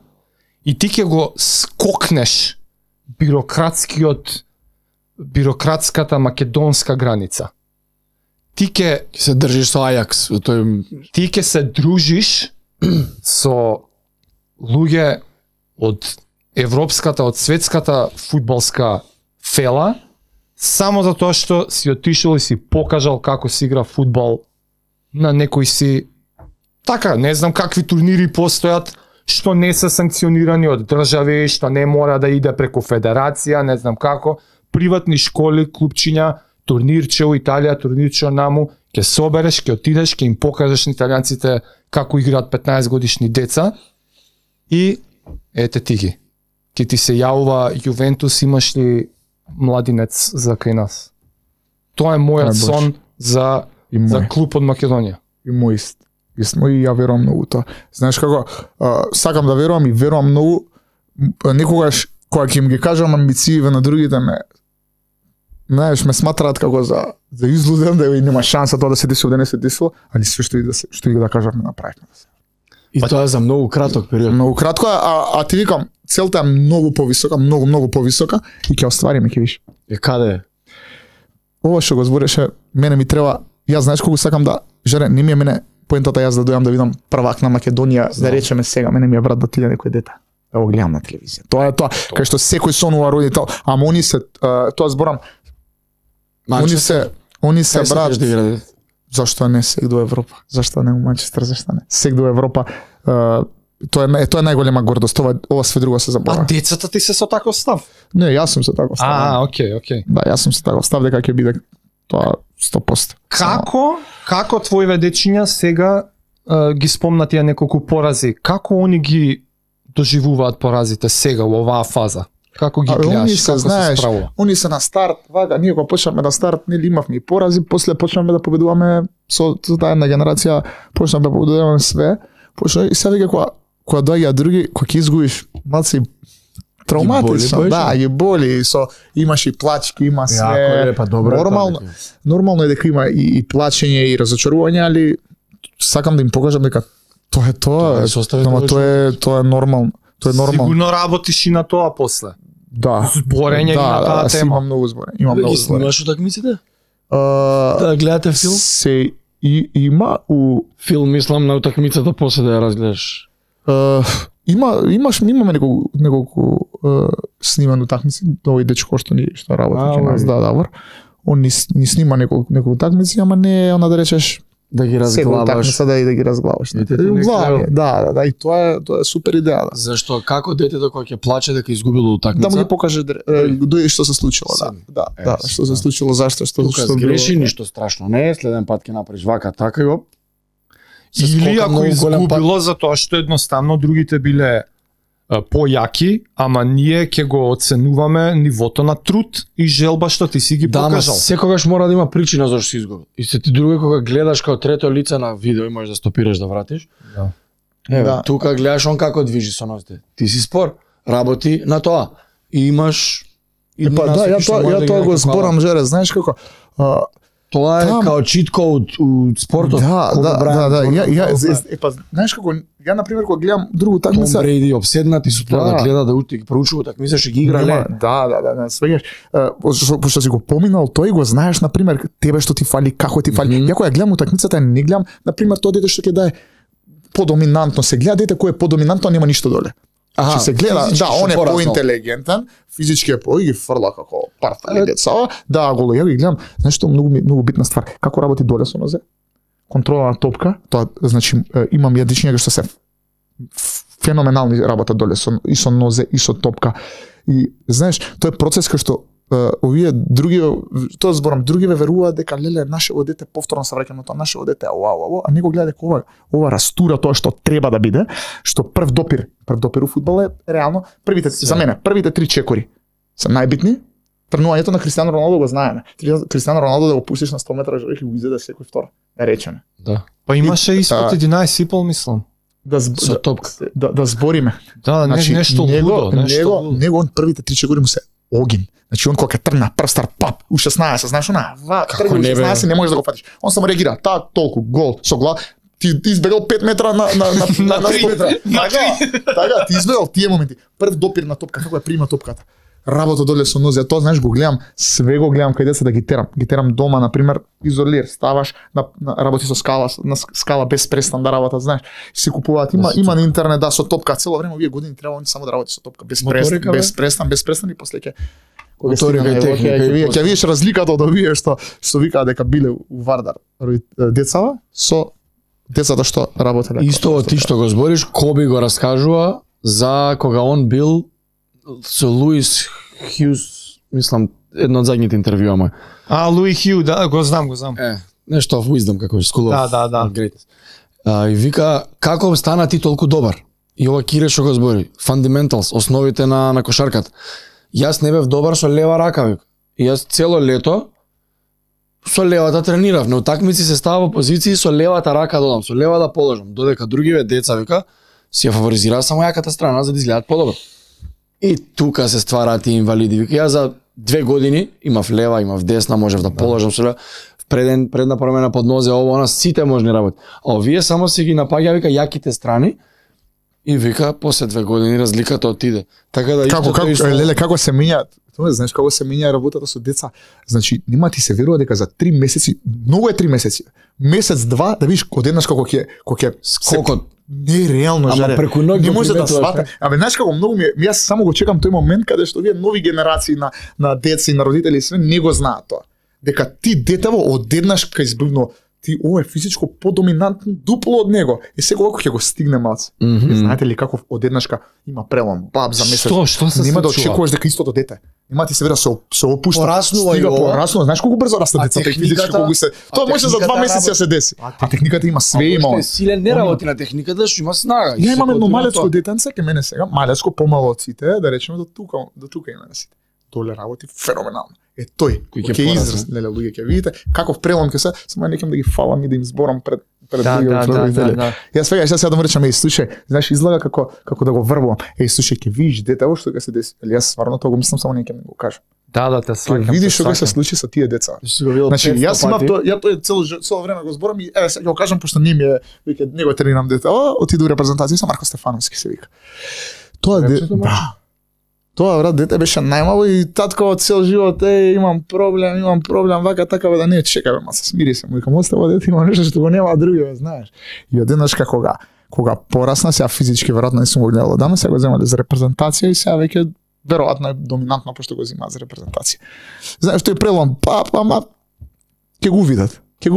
и ти ќе го скокнеш бирократската македонска граница. Ти ќе се држиш со Ајакс, ти ќе се дружиш со луѓе од европската, од светската фудбалска фела, само затоа што си отишол и си покажал како се игра фудбал на некој си, така, не знам какви турнири постојат, што не се санкционирани од држави, што не мора да иде преку федерација, не знам како, приватни школи, клубчиња, турнирче у Италија, турнирче наму, ќе собереш, ќе отидеш, ќе им покажеш на италијанците како играат 15 годишни деца и ете ти ги. Ке ти се јавува Јувентус, имаш ли младинец за кај нас? Тоа е мојот сон за клуб од Македонија. И мој исто, и ја верувам многу тоа. Знаеш како, сакам да верувам и верувам многу, некогаш кога ќе им ги кажам амбициите на другите знаеш, ме сматраат како за излуден, да нема шанса тоа да се деси, да не се десило, али се што и да кажам направивме. И тоа за многу краток период. Многу кратко, а ти викам, целта е многу повисока, многу повисока и ќе оствариме, ќе виш. Каде е? Ова што го збореше, мене ми треба, јас знаеш колку сакам да, жаре, не ми е мене поентата јас да дојам да видам првак на Македонија, да речеме сега, мене ми е брат да отиде некој дете. Да го гледам на телевизија. Тоа е тоа, кај што секој сонува родител, ама они се, тоа зборам, они се брат. Зашто не сек до Европа? Зашто не у Манчестер, зашто не? Сек до Европа, тоа е најголема гордост, ова све друго се забора. А децата ти се со таков став? Не, јас сум се таков став. Окей. Да, јас сум се таков став дека ќе биде тоа 100%. Како твоиве дечиња сега ги спомна тие неколку порази? Како они ги доживуваат поразите сега во оваа фаза? Како ги гледаш, како се справува? Они се на старт, вака, ние кога почнавме на старт, нели имавме и порази, после почнавме да победуваме со таа една генерација, почнавме да победуваме све, и сега веќе кога доаѓаат други, кога ќе изгубиш, малци травматично, да, ги боли, имаш и плачки, има све. Нормално е дека има и плачење и разочарување, али сакам да им покажам дека тоа е тоа, ама тоа е нормално. Сигурно работиш и на тоа после. Да. Зборење на таа тема. Имам многу зборење. Ги снимаш утакмиците? Да гледате филм? Се има у филм, мислам на утакмицата после да ја разгледаш. Имаме неколку снимани утакмици, овој дечко што работи кај нас, да. Он ни снима неколку утакмици, ама не она да речеш да ги разглаваш. Да ги разглаваш. Да, и тоа е супер идеја. Да. Зашто како детето кога ќе плаче дека изгубило утакмица? Да му ги покаже што се случило, да, што се случило, зашто што греши, ништо страшно не е, следен пат ќе направиш вака така и оп. Или ако изгубило затоа што едноставно другите биле појаки, ама ние ќе го оценуваме нивото на труд и желба што ти си ги покажал. Да, секогаш мора да има причина зашто си изгубил. И се ти друго кога гледаш као трето лице на видео и можеш да стопираш да вратиш. Да. Тука гледаш он како движи со нозите. Ти си спор, работи на тоа. И имаш ја тоа го зборам, жере, знаеш како тоа е као чит код у спортот. Да. Знаеш како, ја на пример кога гледам другу такмица, Том Брейди обседнати со тоа да гледа да ути проучува такмица што ги игра ле. Да, свеѓаш. Пошто си го поминал, тој го знаеш на пример тебе што ти фали, како ти фали. Ја кога гледам утакмицата, не гледам на пример тоа дете што ќе даде подоминантно, се гледа дете кој е подоминантно, нема ништо доле. Че се гледа, да, он е поинтелигентен, физички е ги фрла како партали деца. Да, голо, ја ги гледам, знаеш што многу битна ствар, како работи доле со нозе, контрола на топка, тоа значи имам јадичња што се феноменални работа доле и со нозе и со топка. И знаеш, тоа е процес кај што овие други, тоа зборам, другиве веруваат дека леле нашево дете повторно се враќа на тоа, нашево дете а него гледа дека ова растура тоа што треба да биде, што прв допир у фудбал е реално за мене првите 3 чекори се најбитни. Тренувањето на Кристијано Роналдо го знаеме. Кристијано Роналдо да го пуштиш на 100 метра ќе го изеде секој втор, да речеме. Да. Па имаше испод 11,5 мислам. Да збориме. Да, нешто лудо, него он првите 3 чекори му се огин. Значи он кога ќе тргна прв стар пап у 16, знаеш она, тргна у 16 не можеш да го фатиш. Он само реагира, толку гол со глава. Ти избегал 5 метра на 3 метра. Така, ти избегал тие моменти. Прв допир на топка, како ја прима топката. Работа доле со нозе, тоа знаеш го гледам, све го гледам кај деца да ги терам. Ги терам дома, на пример, изолир, ставаш работи со скала, на скала без престан да работат, знаеш. Се купуваат, има на интернет со топка цело време, овие години треба он само да работи со топка без престан и после ќе ќе видиш разликата од овие што викаат дека биле у Вардар децава со децата што работеле. Исто ти што го збориш, Коби го раскажува за кога он бил со Луис Хјус, мислам, едно од задните интервјуа мој. Луи Хју, да, го знам. Нешто of wisdom, како е, school of greatness. И вика, како стана ти толку добар? И ова Кире што го збори, fundamentals, основите на кошарката. Јас не бев добар со лева рака, вика. И јас цело лето со левата тренирав, на утакмици се става во позиции со левата рака додам, со лева да положам, додека другиве деца, вика, си ја фаворизираа само јаката страна за да изгледаат подобро. И тука се ствараат и инвалиди. Вика, ја за 2 години имав лева, имав десна, можев да положам со лева. Предна промена под нозе, она сите можни работи. А овие само си ги напаѓа, вика, јаките страни. И вика, после 2 години разликата отиде. Така да како се менјаат? Тоа знаеш како се менја работата со деца. Значи, нема ти се верува дека за 3 месеци, многу е 3 месеци. Месец, два, да видиш одеднаш како ќе скокот. Нереално жаре. Ама преку ноќ не може да свата. Знаеш како многу јас само го чекам тој момент каде што овие нови генерации на деца и на родители све не го знаат тоа. Дека ти детево одеднаш кај избивно ти ова е физичко подоминантно дупло од него. И сега кога ќе го стигне малце. Знаете ли како одеднашка има прелом, баб за месец. Што се нема да очекуваш дека истото дете. Нема ти се верува се опушта. Пораснува и пораснува. Знаеш колку брзо растат децата физички колку се. Тоа може за 2 месеци да се деси. А техниката има све има. Силен не работи на техниката, што има снага. Ја имаме едно малецко детенце ке мене сега, малецко помало од сите, да речеме до тука има на сите. Доле работи феноменално. Е тој кој ќе израз, леле луѓе ќе видите каков прелом ќе се, само некам да ги фалам и да им зборам пред луѓе. Јас сега да му речам, слушај, знаеш излага како да го врбувам. Слушај, ќе видиш детево што ќе се деси. Или јас стварно тоа го мислам, само некам да го кажам. Да, те сваќам. Ќе видиш што ќе се случи со тие деца. Значи, јас имав тоа, ја тоа цело време го зборам и еве сега ќе го кажам пошто не ми е, вика, него тренирам дете. Отиду репрезентација со Марко Стефановски се вика. Тоа Тоа брат дете беше најмало и татко цел живот имам проблем, вака така да не чекаме, ма се смири се, му викам остава дете има нешто што го нема други, знаеш. И одеднашка кога порасна, сега физички веројатно не сум го гледал одамна, сега го земале за репрезентација и сега веќе веројатно е доминантно пошто го земаат за репрезентација. Знаеш тој прелом, ама ќе го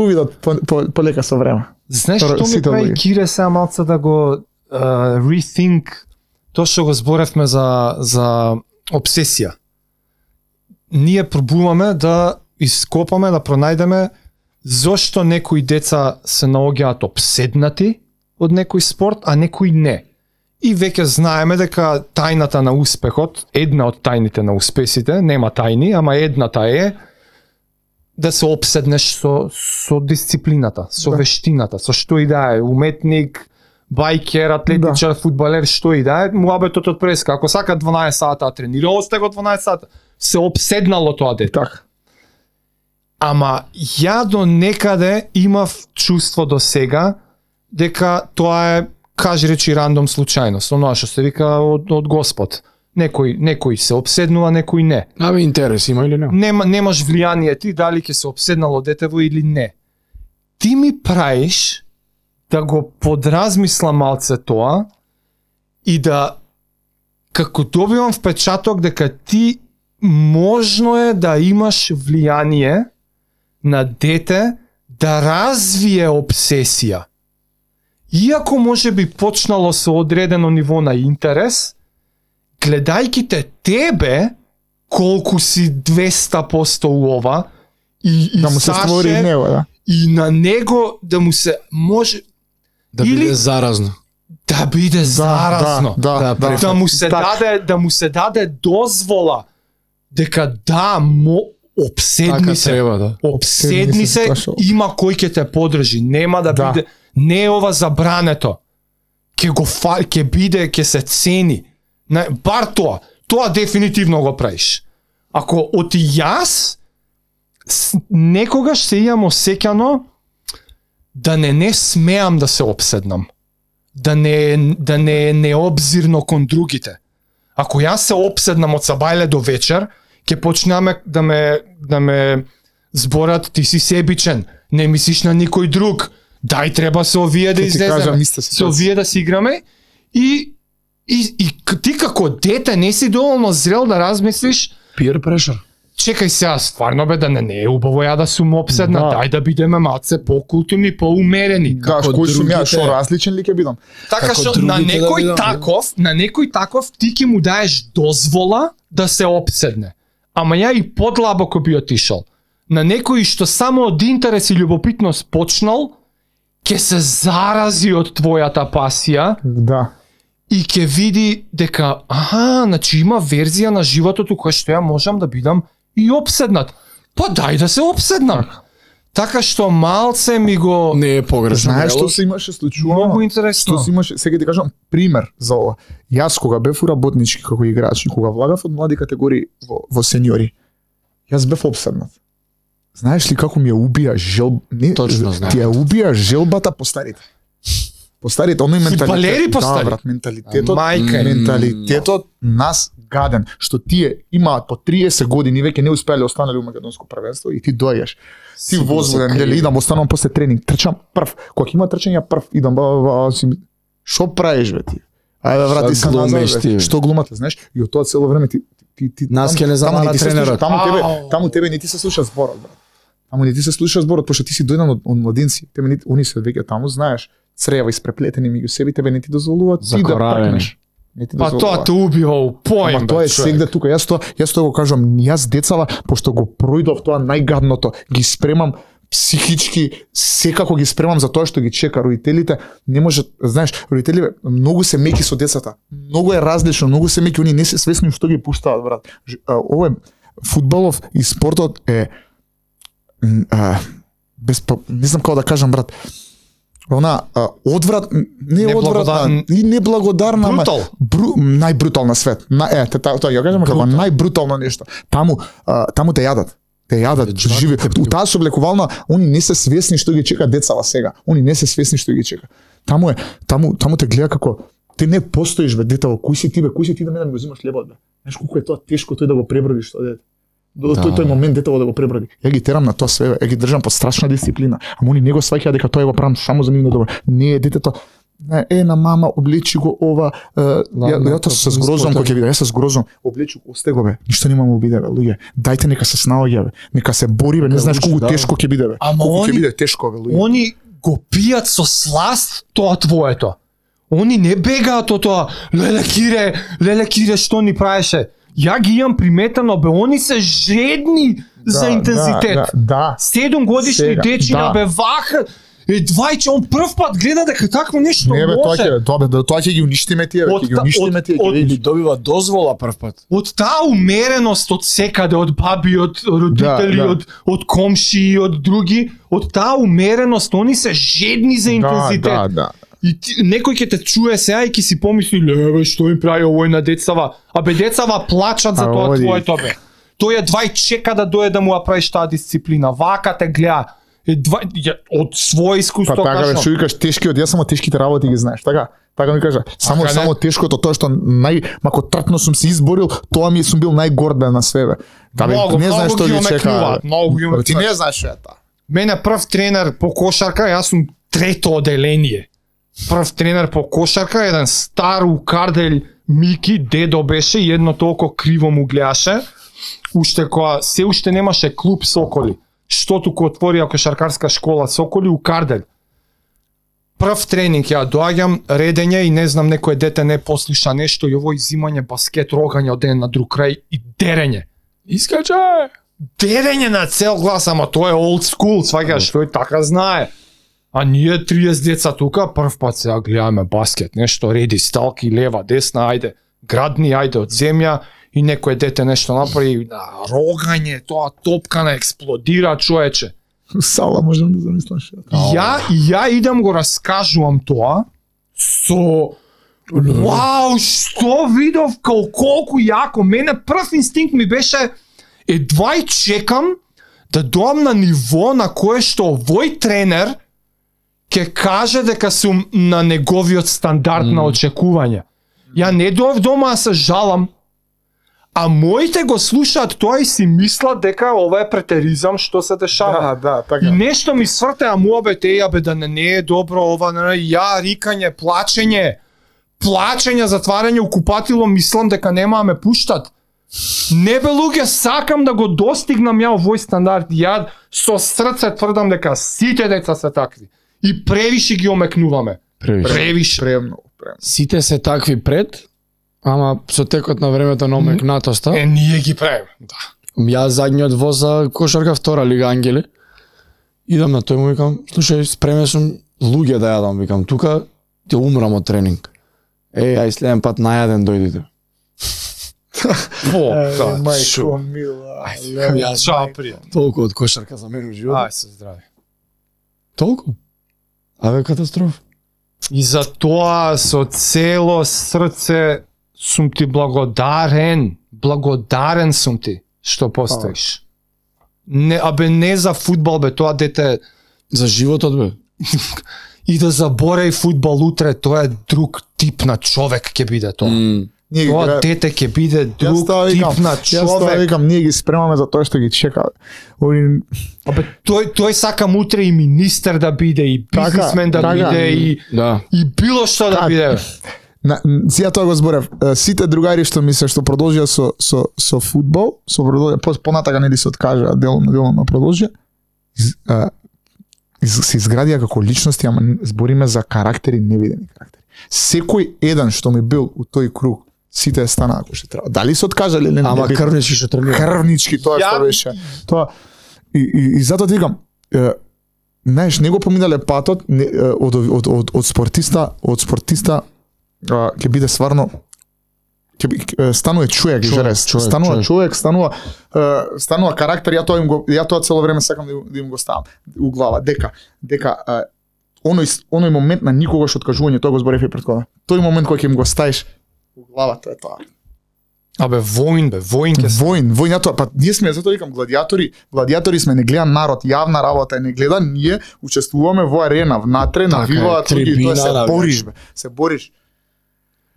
видат полека со време. Знаеш што ми прави Кире сега малце да го rethink тоа што го зборевме за обсесија. Ние пробуваме да ископаме, да пронајдеме зошто некои деца се наоѓаат обседнати од некој спорт, а некои не. И веќе знаеме дека тајната на успехот, една од тајните на успесите, нема тајни, ама едната е да се обседнеш со дисциплината, со вештината, со што и да е, уметник, байкер, атлетичар, фудбалер, што и да е, муабетот од преска. Ако сака 12 сата тренира, остае го 12 сата. Се обседнало тоа дете. Так. Ама ја до некаде имав чувство до сега дека тоа е, кажи речи, рандом случајност. Оноа што се вика од Господ. Некој се обседнува, некој не. Ами интерес има или не? Немаш влијание ти дали ќе се обседнало детево или не. Ти ми праиш да го подразмислам малце тоа и да како добивам впечаток дека ти можно е да имаш влијание на дете да развие обсесија. Иако може би почнало со одредено ниво на интерес, гледајќи те тебе колку си 200% у ова и да му се створи него, да. И на него да му се може да биде заразно. Да биде заразно. Да му се даде дозвола дека обседни се. Треба, да. Обседни се, има кој ќе те подржи. Нема да биде, не е ова забрането. Ќе биде, ќе се цени. Бар тоа дефинитивно го правиш. Ако од јас некогаш се имам осеќано да не смеам да се опседнам. Да не е необзирно кон другите. Ако јас се опседнам од сабајле до вечер, ќе почнеме да ме зборат ти си себичен, не мислиш на никој друг. Дај треба се овие да излеземе. Се овие да си играме и ти како дете не си доволно зрел да размислиш peer pressure. Чекај сега, стварно бе, да не е убаво ја да сум опседна, дај да бидеме малце покултурни, поумерени. Да, кој сум ја, шо различен ли ќе бидам? Така што на некој таков ти ќе му даеш дозвола да се опседне. Ама ја и подлабоко би отишол. На некој што само од интерес и љубопитност почнал, ќе се зарази од твојата пасија. Да. И ќе види дека, значи има верзија на животот у која што ја можам да бидам и опседнат. Па дај да се опседнам. Така што малце ми го... Не е погрешно. Знаеш што се имаше случувано? Многу интересно. Што се имаше, сега ти кажам пример за ова. Јас кога бев уработнички како играч, кога влагав од млади категории во сениори, јас бев опседнат. Знаеш ли како ми ја убија Точно знам. Ти ја убија желбата по старите. По старите, оној менталитет. Фудбалери по стари. Да, брат, менталитетот нас гаден, што тие имаат по 30 години веќе не успеале останале у македонско првенство и ти доаѓаш. Ти возбуден, нели идам, останувам после тренинг, трчам прв. Кога има трчање прв, идам, шо правиш бе ти? Ајде врати се назад. Што глумате, знаеш? И од тоа цело време ти нас ќе не замара тренерот. Таму тебе не ти се слуша зборот, брат. Таму не ти се слуша зборот, пошто ти си дојден од младинци. Они се веќе таму, знаеш, црева испреплетени меѓу себе, тебе не ти дозволуваат ти да пркнеш. Па тоа те убива у поим. Ама тоа е сегде тука. Јас тоа го кажам, јас децава, пошто го пројдов тоа најгадното, ги спремам психички, секако ги спремам за тоа што ги чека. Родителите не можат, знаеш, родителите многу се меки со децата. Многу е различно, многу се меки, они не се свесни што ги пуштаат, брат. Ова фудбалов и спортот е не знам како да кажам, брат. Она одврат, не одвратна, и неблагодарна, најбрутална свет. Тоа ја кажам како најбрутално нешто. Таму те јадат. Те јадат, живи. У таа соблекувална, они не се свесни што ги чека децава сега. Они не се свесни што ги чека. Таму те гледа како ти не постоиш бе, детево, кој си ти бе, кој си ти да ме да ми го зимаш лебот бе. Знаеш колку е тоа тешко тој да го пребродиш тоа дете. До тој момент детево да го преброди. Ја ги терам на тоа све, ја ги држам под страшна дисциплина. Ама они не го сваќаат дека тоа го правам само за нивно добро. Не е детето на мама облечи го ова, ја тоа се згрозувам кога ќе видам, јас се згрозувам, облечи го, осте го бе, ништо нема му биде бе, луѓе. Дајте нека се снаоѓа бе, нека се бори бе, не знаеш колку тешко ќе биде бе. Колку ќе биде тешко бе, луѓе. Они го пијат со сласт тоа твоето. Они не бегаат од тоа, леле кире, што ни правеше. Ја ги имам приметено бе, они се жедни за интензитет. Да. 7 годишни дечиња бе ваха. Двајче, он прв пат гледа дека такво нешто може. Не бе, тоа ќе ги уништиме тие, ќе ги уништиме тие. Или добива дозвола прв пат. Од таа умереност од секаде, од баби, од родители, од комши, од други, од таа умереност, они се жедни за интензитет. Да. И некој ќе те чуе сега и ќе си помисли, леве, што им прави овој на децава? Абе, децава плачат за тоа твоето бе. Тој е двај чека да дое да му ја правиш таа дисциплина. Вака те гледа. Од своје искуство кажам. Па така бе, што викаш тешкиот, јас само тешките работи ги знаеш, така? Така ми кажа. Само тешкото, тоа што мако тртно сум се изборил, тоа ми сум бил најгорд бе на све бе. Не знаеш што ги чека. Ти не знаеш што е тоа. Мене прв тренер по кошарка, јас сум трето оделение. Прв тренер по кошарка, еден стар укардель Мики, дедо беше, и едно толку криво му гледаше. Се уште немаше клуб Соколи. Што туку отворија кошаркарска школа Соколи у Кардель. Прв тренинг ја доаѓам, редење и не знам, некој дете не послуша нешто и овој зимање баскет, рогање од ден на друг крај и дерење. Искачај! Дерење на цел глас, ама тоа е old school, сваќаш, тој така знае. А ние 30 деца тука, прв пат сега гледаме баскет, нешто реди, сталки, лева, десна, ајде, градни, ајде од земја, и некој дете нешто направи, рогање, тоа топка не експлодира, човече. Сала можам да замислам што. Ја идам го раскажувам тоа со вау, што видов, колку јако. Мене прв инстинкт ми беше Едва и чекам да доам на ниво на кое што овој тренер ќе каже дека сум на неговиот стандард на очекување. Ја не доав дома да се жалам, а моите го слушаат тоа и си мислат дека ова е претеризам што се дешава. Да, така. И нешто ми сврте, а муабет бе да не е добро ова, ја рикање, плачење, затварање у купатило, мислам дека нема да ме пуштат. Не бе луѓе, сакам да го достигнам ја овој стандард. Ја со срце тврдам дека сите деца се такви. И превише ги омекнуваме. Превише. Премногу. Сите се такви пред, ама со текот на времето на омекнатоста. Ние ги правиме. Да. Јас задниот воз за кошарка втора лига Ангели. Идам на тој му викам, слушај, спремен сум луѓе да јадам, викам, тука ќе умрам од тренинг. Ај следен пат најаден дојдите. Мајко мила. Јас толку од кошарка за мене живот. Ај се здрави. Толку? Аве катастрофа. И за тоа со цело срце сум ти благодарен. Благодарен сум ти што постоиш. Не за фудбал бе, тоа дете За животот бе. и да заборави фудбал утре, тоа е друг тип на човек ќе биде тоа. Тоа дете ќе биде друг тип на човек. Јас тоа викам, ние ги спремаме за тоа што ги чека. Абе, тој сака утре и министер да биде, и бизнисмен да биде, и било што да биде. Сега тоа го зборев. Сите другари што мисле што продолжија со фудбал, понатака нели се откажа делом на продолжија, се изградија како личности, ама збориме за карактери, невидени карактери. Секој еден што ми бил у тој круг, сите станаа како што треба. Дали се откажале или не? Ама крвнички што тренира. Крвнички, тоа што беше. Тоа и затоа ти викам, знаеш, не го поминале патот од спортиста ќе биде стварно станува човек, станува човек, станува карактер. Ја тоа цело време сакам да им го ставам у глава дека оној момент на никогаш откажување, тоа го зборев и претходно. Тој момент кој ќе им го ставиш у глава, тоа е тоа. Абе воин ќе се. Воин, тоа, па ние сме, затоа викам, гладиатори сме, не гледа народ, јавна работа не гледа, ние учествуваме во арена, внатре, навиваат луѓе, тоа се бориш бе, се бориш.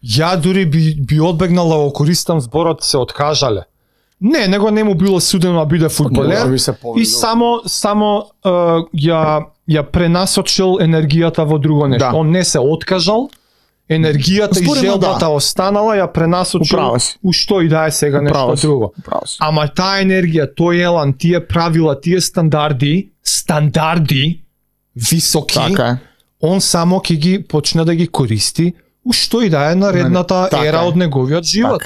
Ја дури би одбегнал да го користам зборот се откажале. Не му било судено да биде фудбалер и само ја пренасочил енергијата во друго нешто. Да. Он не се откажал, енергијата и желбата останала, ја пренасочил у што и да е сега нешто друго. Ама таа енергија, тој елан, тие правила, тие стандарди високи, он само ќе ги почне да ги користи у што и да е наредната ера од неговиот живот.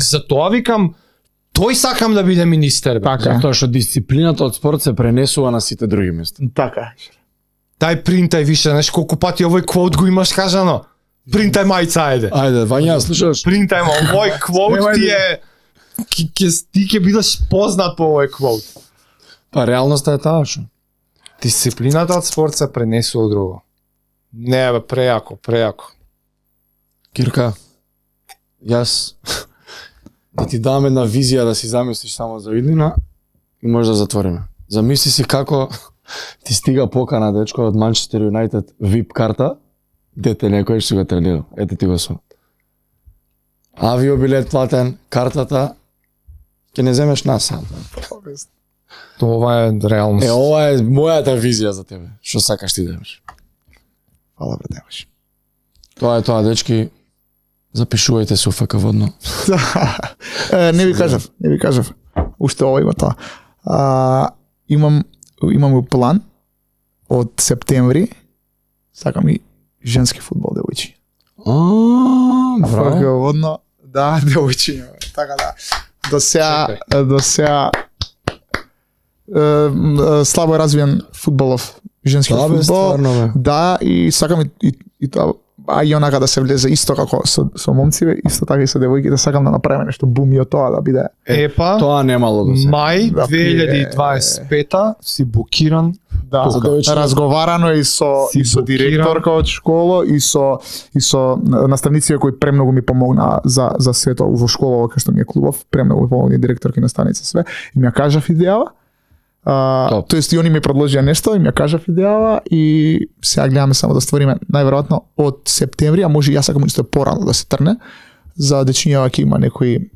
Затоа викам, тој сакам да биде министер. Затоа што дисциплината од спорт се пренесува на сите други места. Така. Дај принтај више, знаеш колку пати овој квот го имаш кажано. Принтај мајца, ајде. Ајде, Вања, слушаш? Принтај ма, овој квот ти е... Ти ќе бидеш познат по овој квот. Па реалноста е таа што. Дисциплината од спорт се пренесува друго. Не бе, прејако. Кирка, јас да ти дам една визија да си замислиш само за иднина и може да затвориме. Замисли си како ти стига покана, дечко, од Манчестер Юнайтед VIP карта, дете некој што го тренира. Ете ти го со. Авиобилет платен, картата, ќе не земеш насам. Ова е реалност. Ова е мојата визија за тебе. Што сакаш ти да имаш? Фала, братеваш. Тоа е тоа, дечки. Запишувајте се у ФК Водно. Не ви кажав. Уште ова има тоа. Имам план од септември. Сакам и женски фудбал девојчи. Браво. ФК Водно, да, девојчи. Така да. До сега слабо развиен фудбалов женски фудбал. Да, и сакам и тоа а и онака да се влезе исто како со момциве, исто така и со девојките, сакам да направиме нешто бум и од тоа да биде. Епа, Тоа немало да се. мај Да, 2025 си букиран. Да, разговарано и со директорка од школа и со наставниците кои премногу ми помогнаа за сето во школа кај што ми е клубов, премногу ми помогна директорки, наставници све и ми ја кажав идејава. Тоест и они ми предложија нешто и ми ја кажав идејава и сега гледаме само да ствариме најверојатно од септември, а може и јас сакам исто порано да се трне за дечињава ќе има некои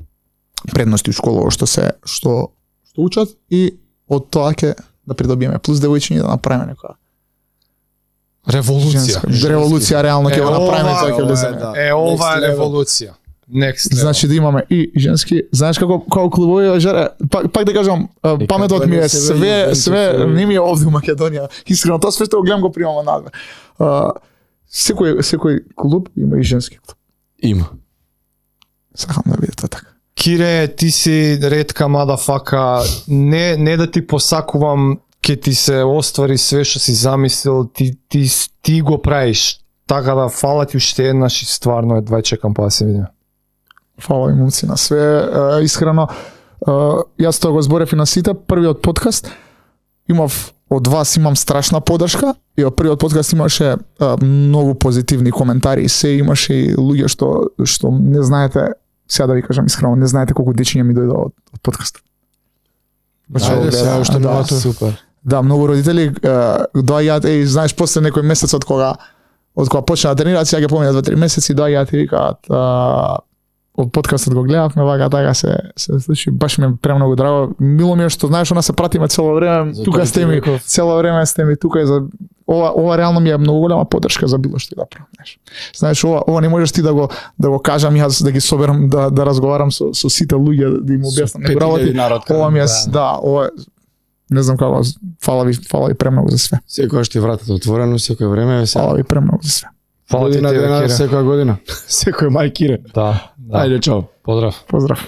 предности у школа што учат и од тоа ќе да придобиеме плюс девојчиња да направиме некоја револуција реално ќе го направиме тоа ќе влеземе. Ова е револуција. Next level. Значи да имаме и женски, знаеш како клубови жаре, пак да кажам, паметот ми е све не ми е овде у Македонија. Искрено тоа све што го гледам го примам надве. Секој клуб има и женски клуб. Има. Сакам да биде тоа така. Кире, ти си ретка мадафака, не да ти посакувам, ќе ти се оствари све што си замислил, ти го правиш. Така да фала ти уште еднаш и стварно едва чекам па да се видиме. Фала ви момци на све. Искрено, јас тоа го зборев и на сите. Првиот подкаст имав од вас, имам страшна подршка и од првиот подкаст имаше многу позитивни коментари и се имаше и луѓе што не знаете, сега да ви кажам искрено, не знаете колку дечиња ми дојдоа од подкастот. Ајде сега уште многу супер. Да, многу родители доаѓаат, знаеш, после некој месец од кога почна да тренираат, сега ќе поминат 2-3 месеци, доаѓаат и викаат од подкастот го гледавме, вака така се случи, баш ми е премногу драго. Мило ми е што знаеш, она се пратиме цело време, тука сте ми, цело време сте ми тука и за ова реално ми е многу голема подршка за било што да правам, знаеш. Ова не можеш ти да го кажам јас, да ги соберам, да разговарам со сите луѓе, да им објаснам некои работи. Ова ми е, ова не знам како, фала ви премногу за све. Секојаш ти вратата отворено, секој време. Фала ви премногу за све. Фала ти, секоја година. Секој мај Кире. Да. Ајде, чао. Поздрав. Поздрав.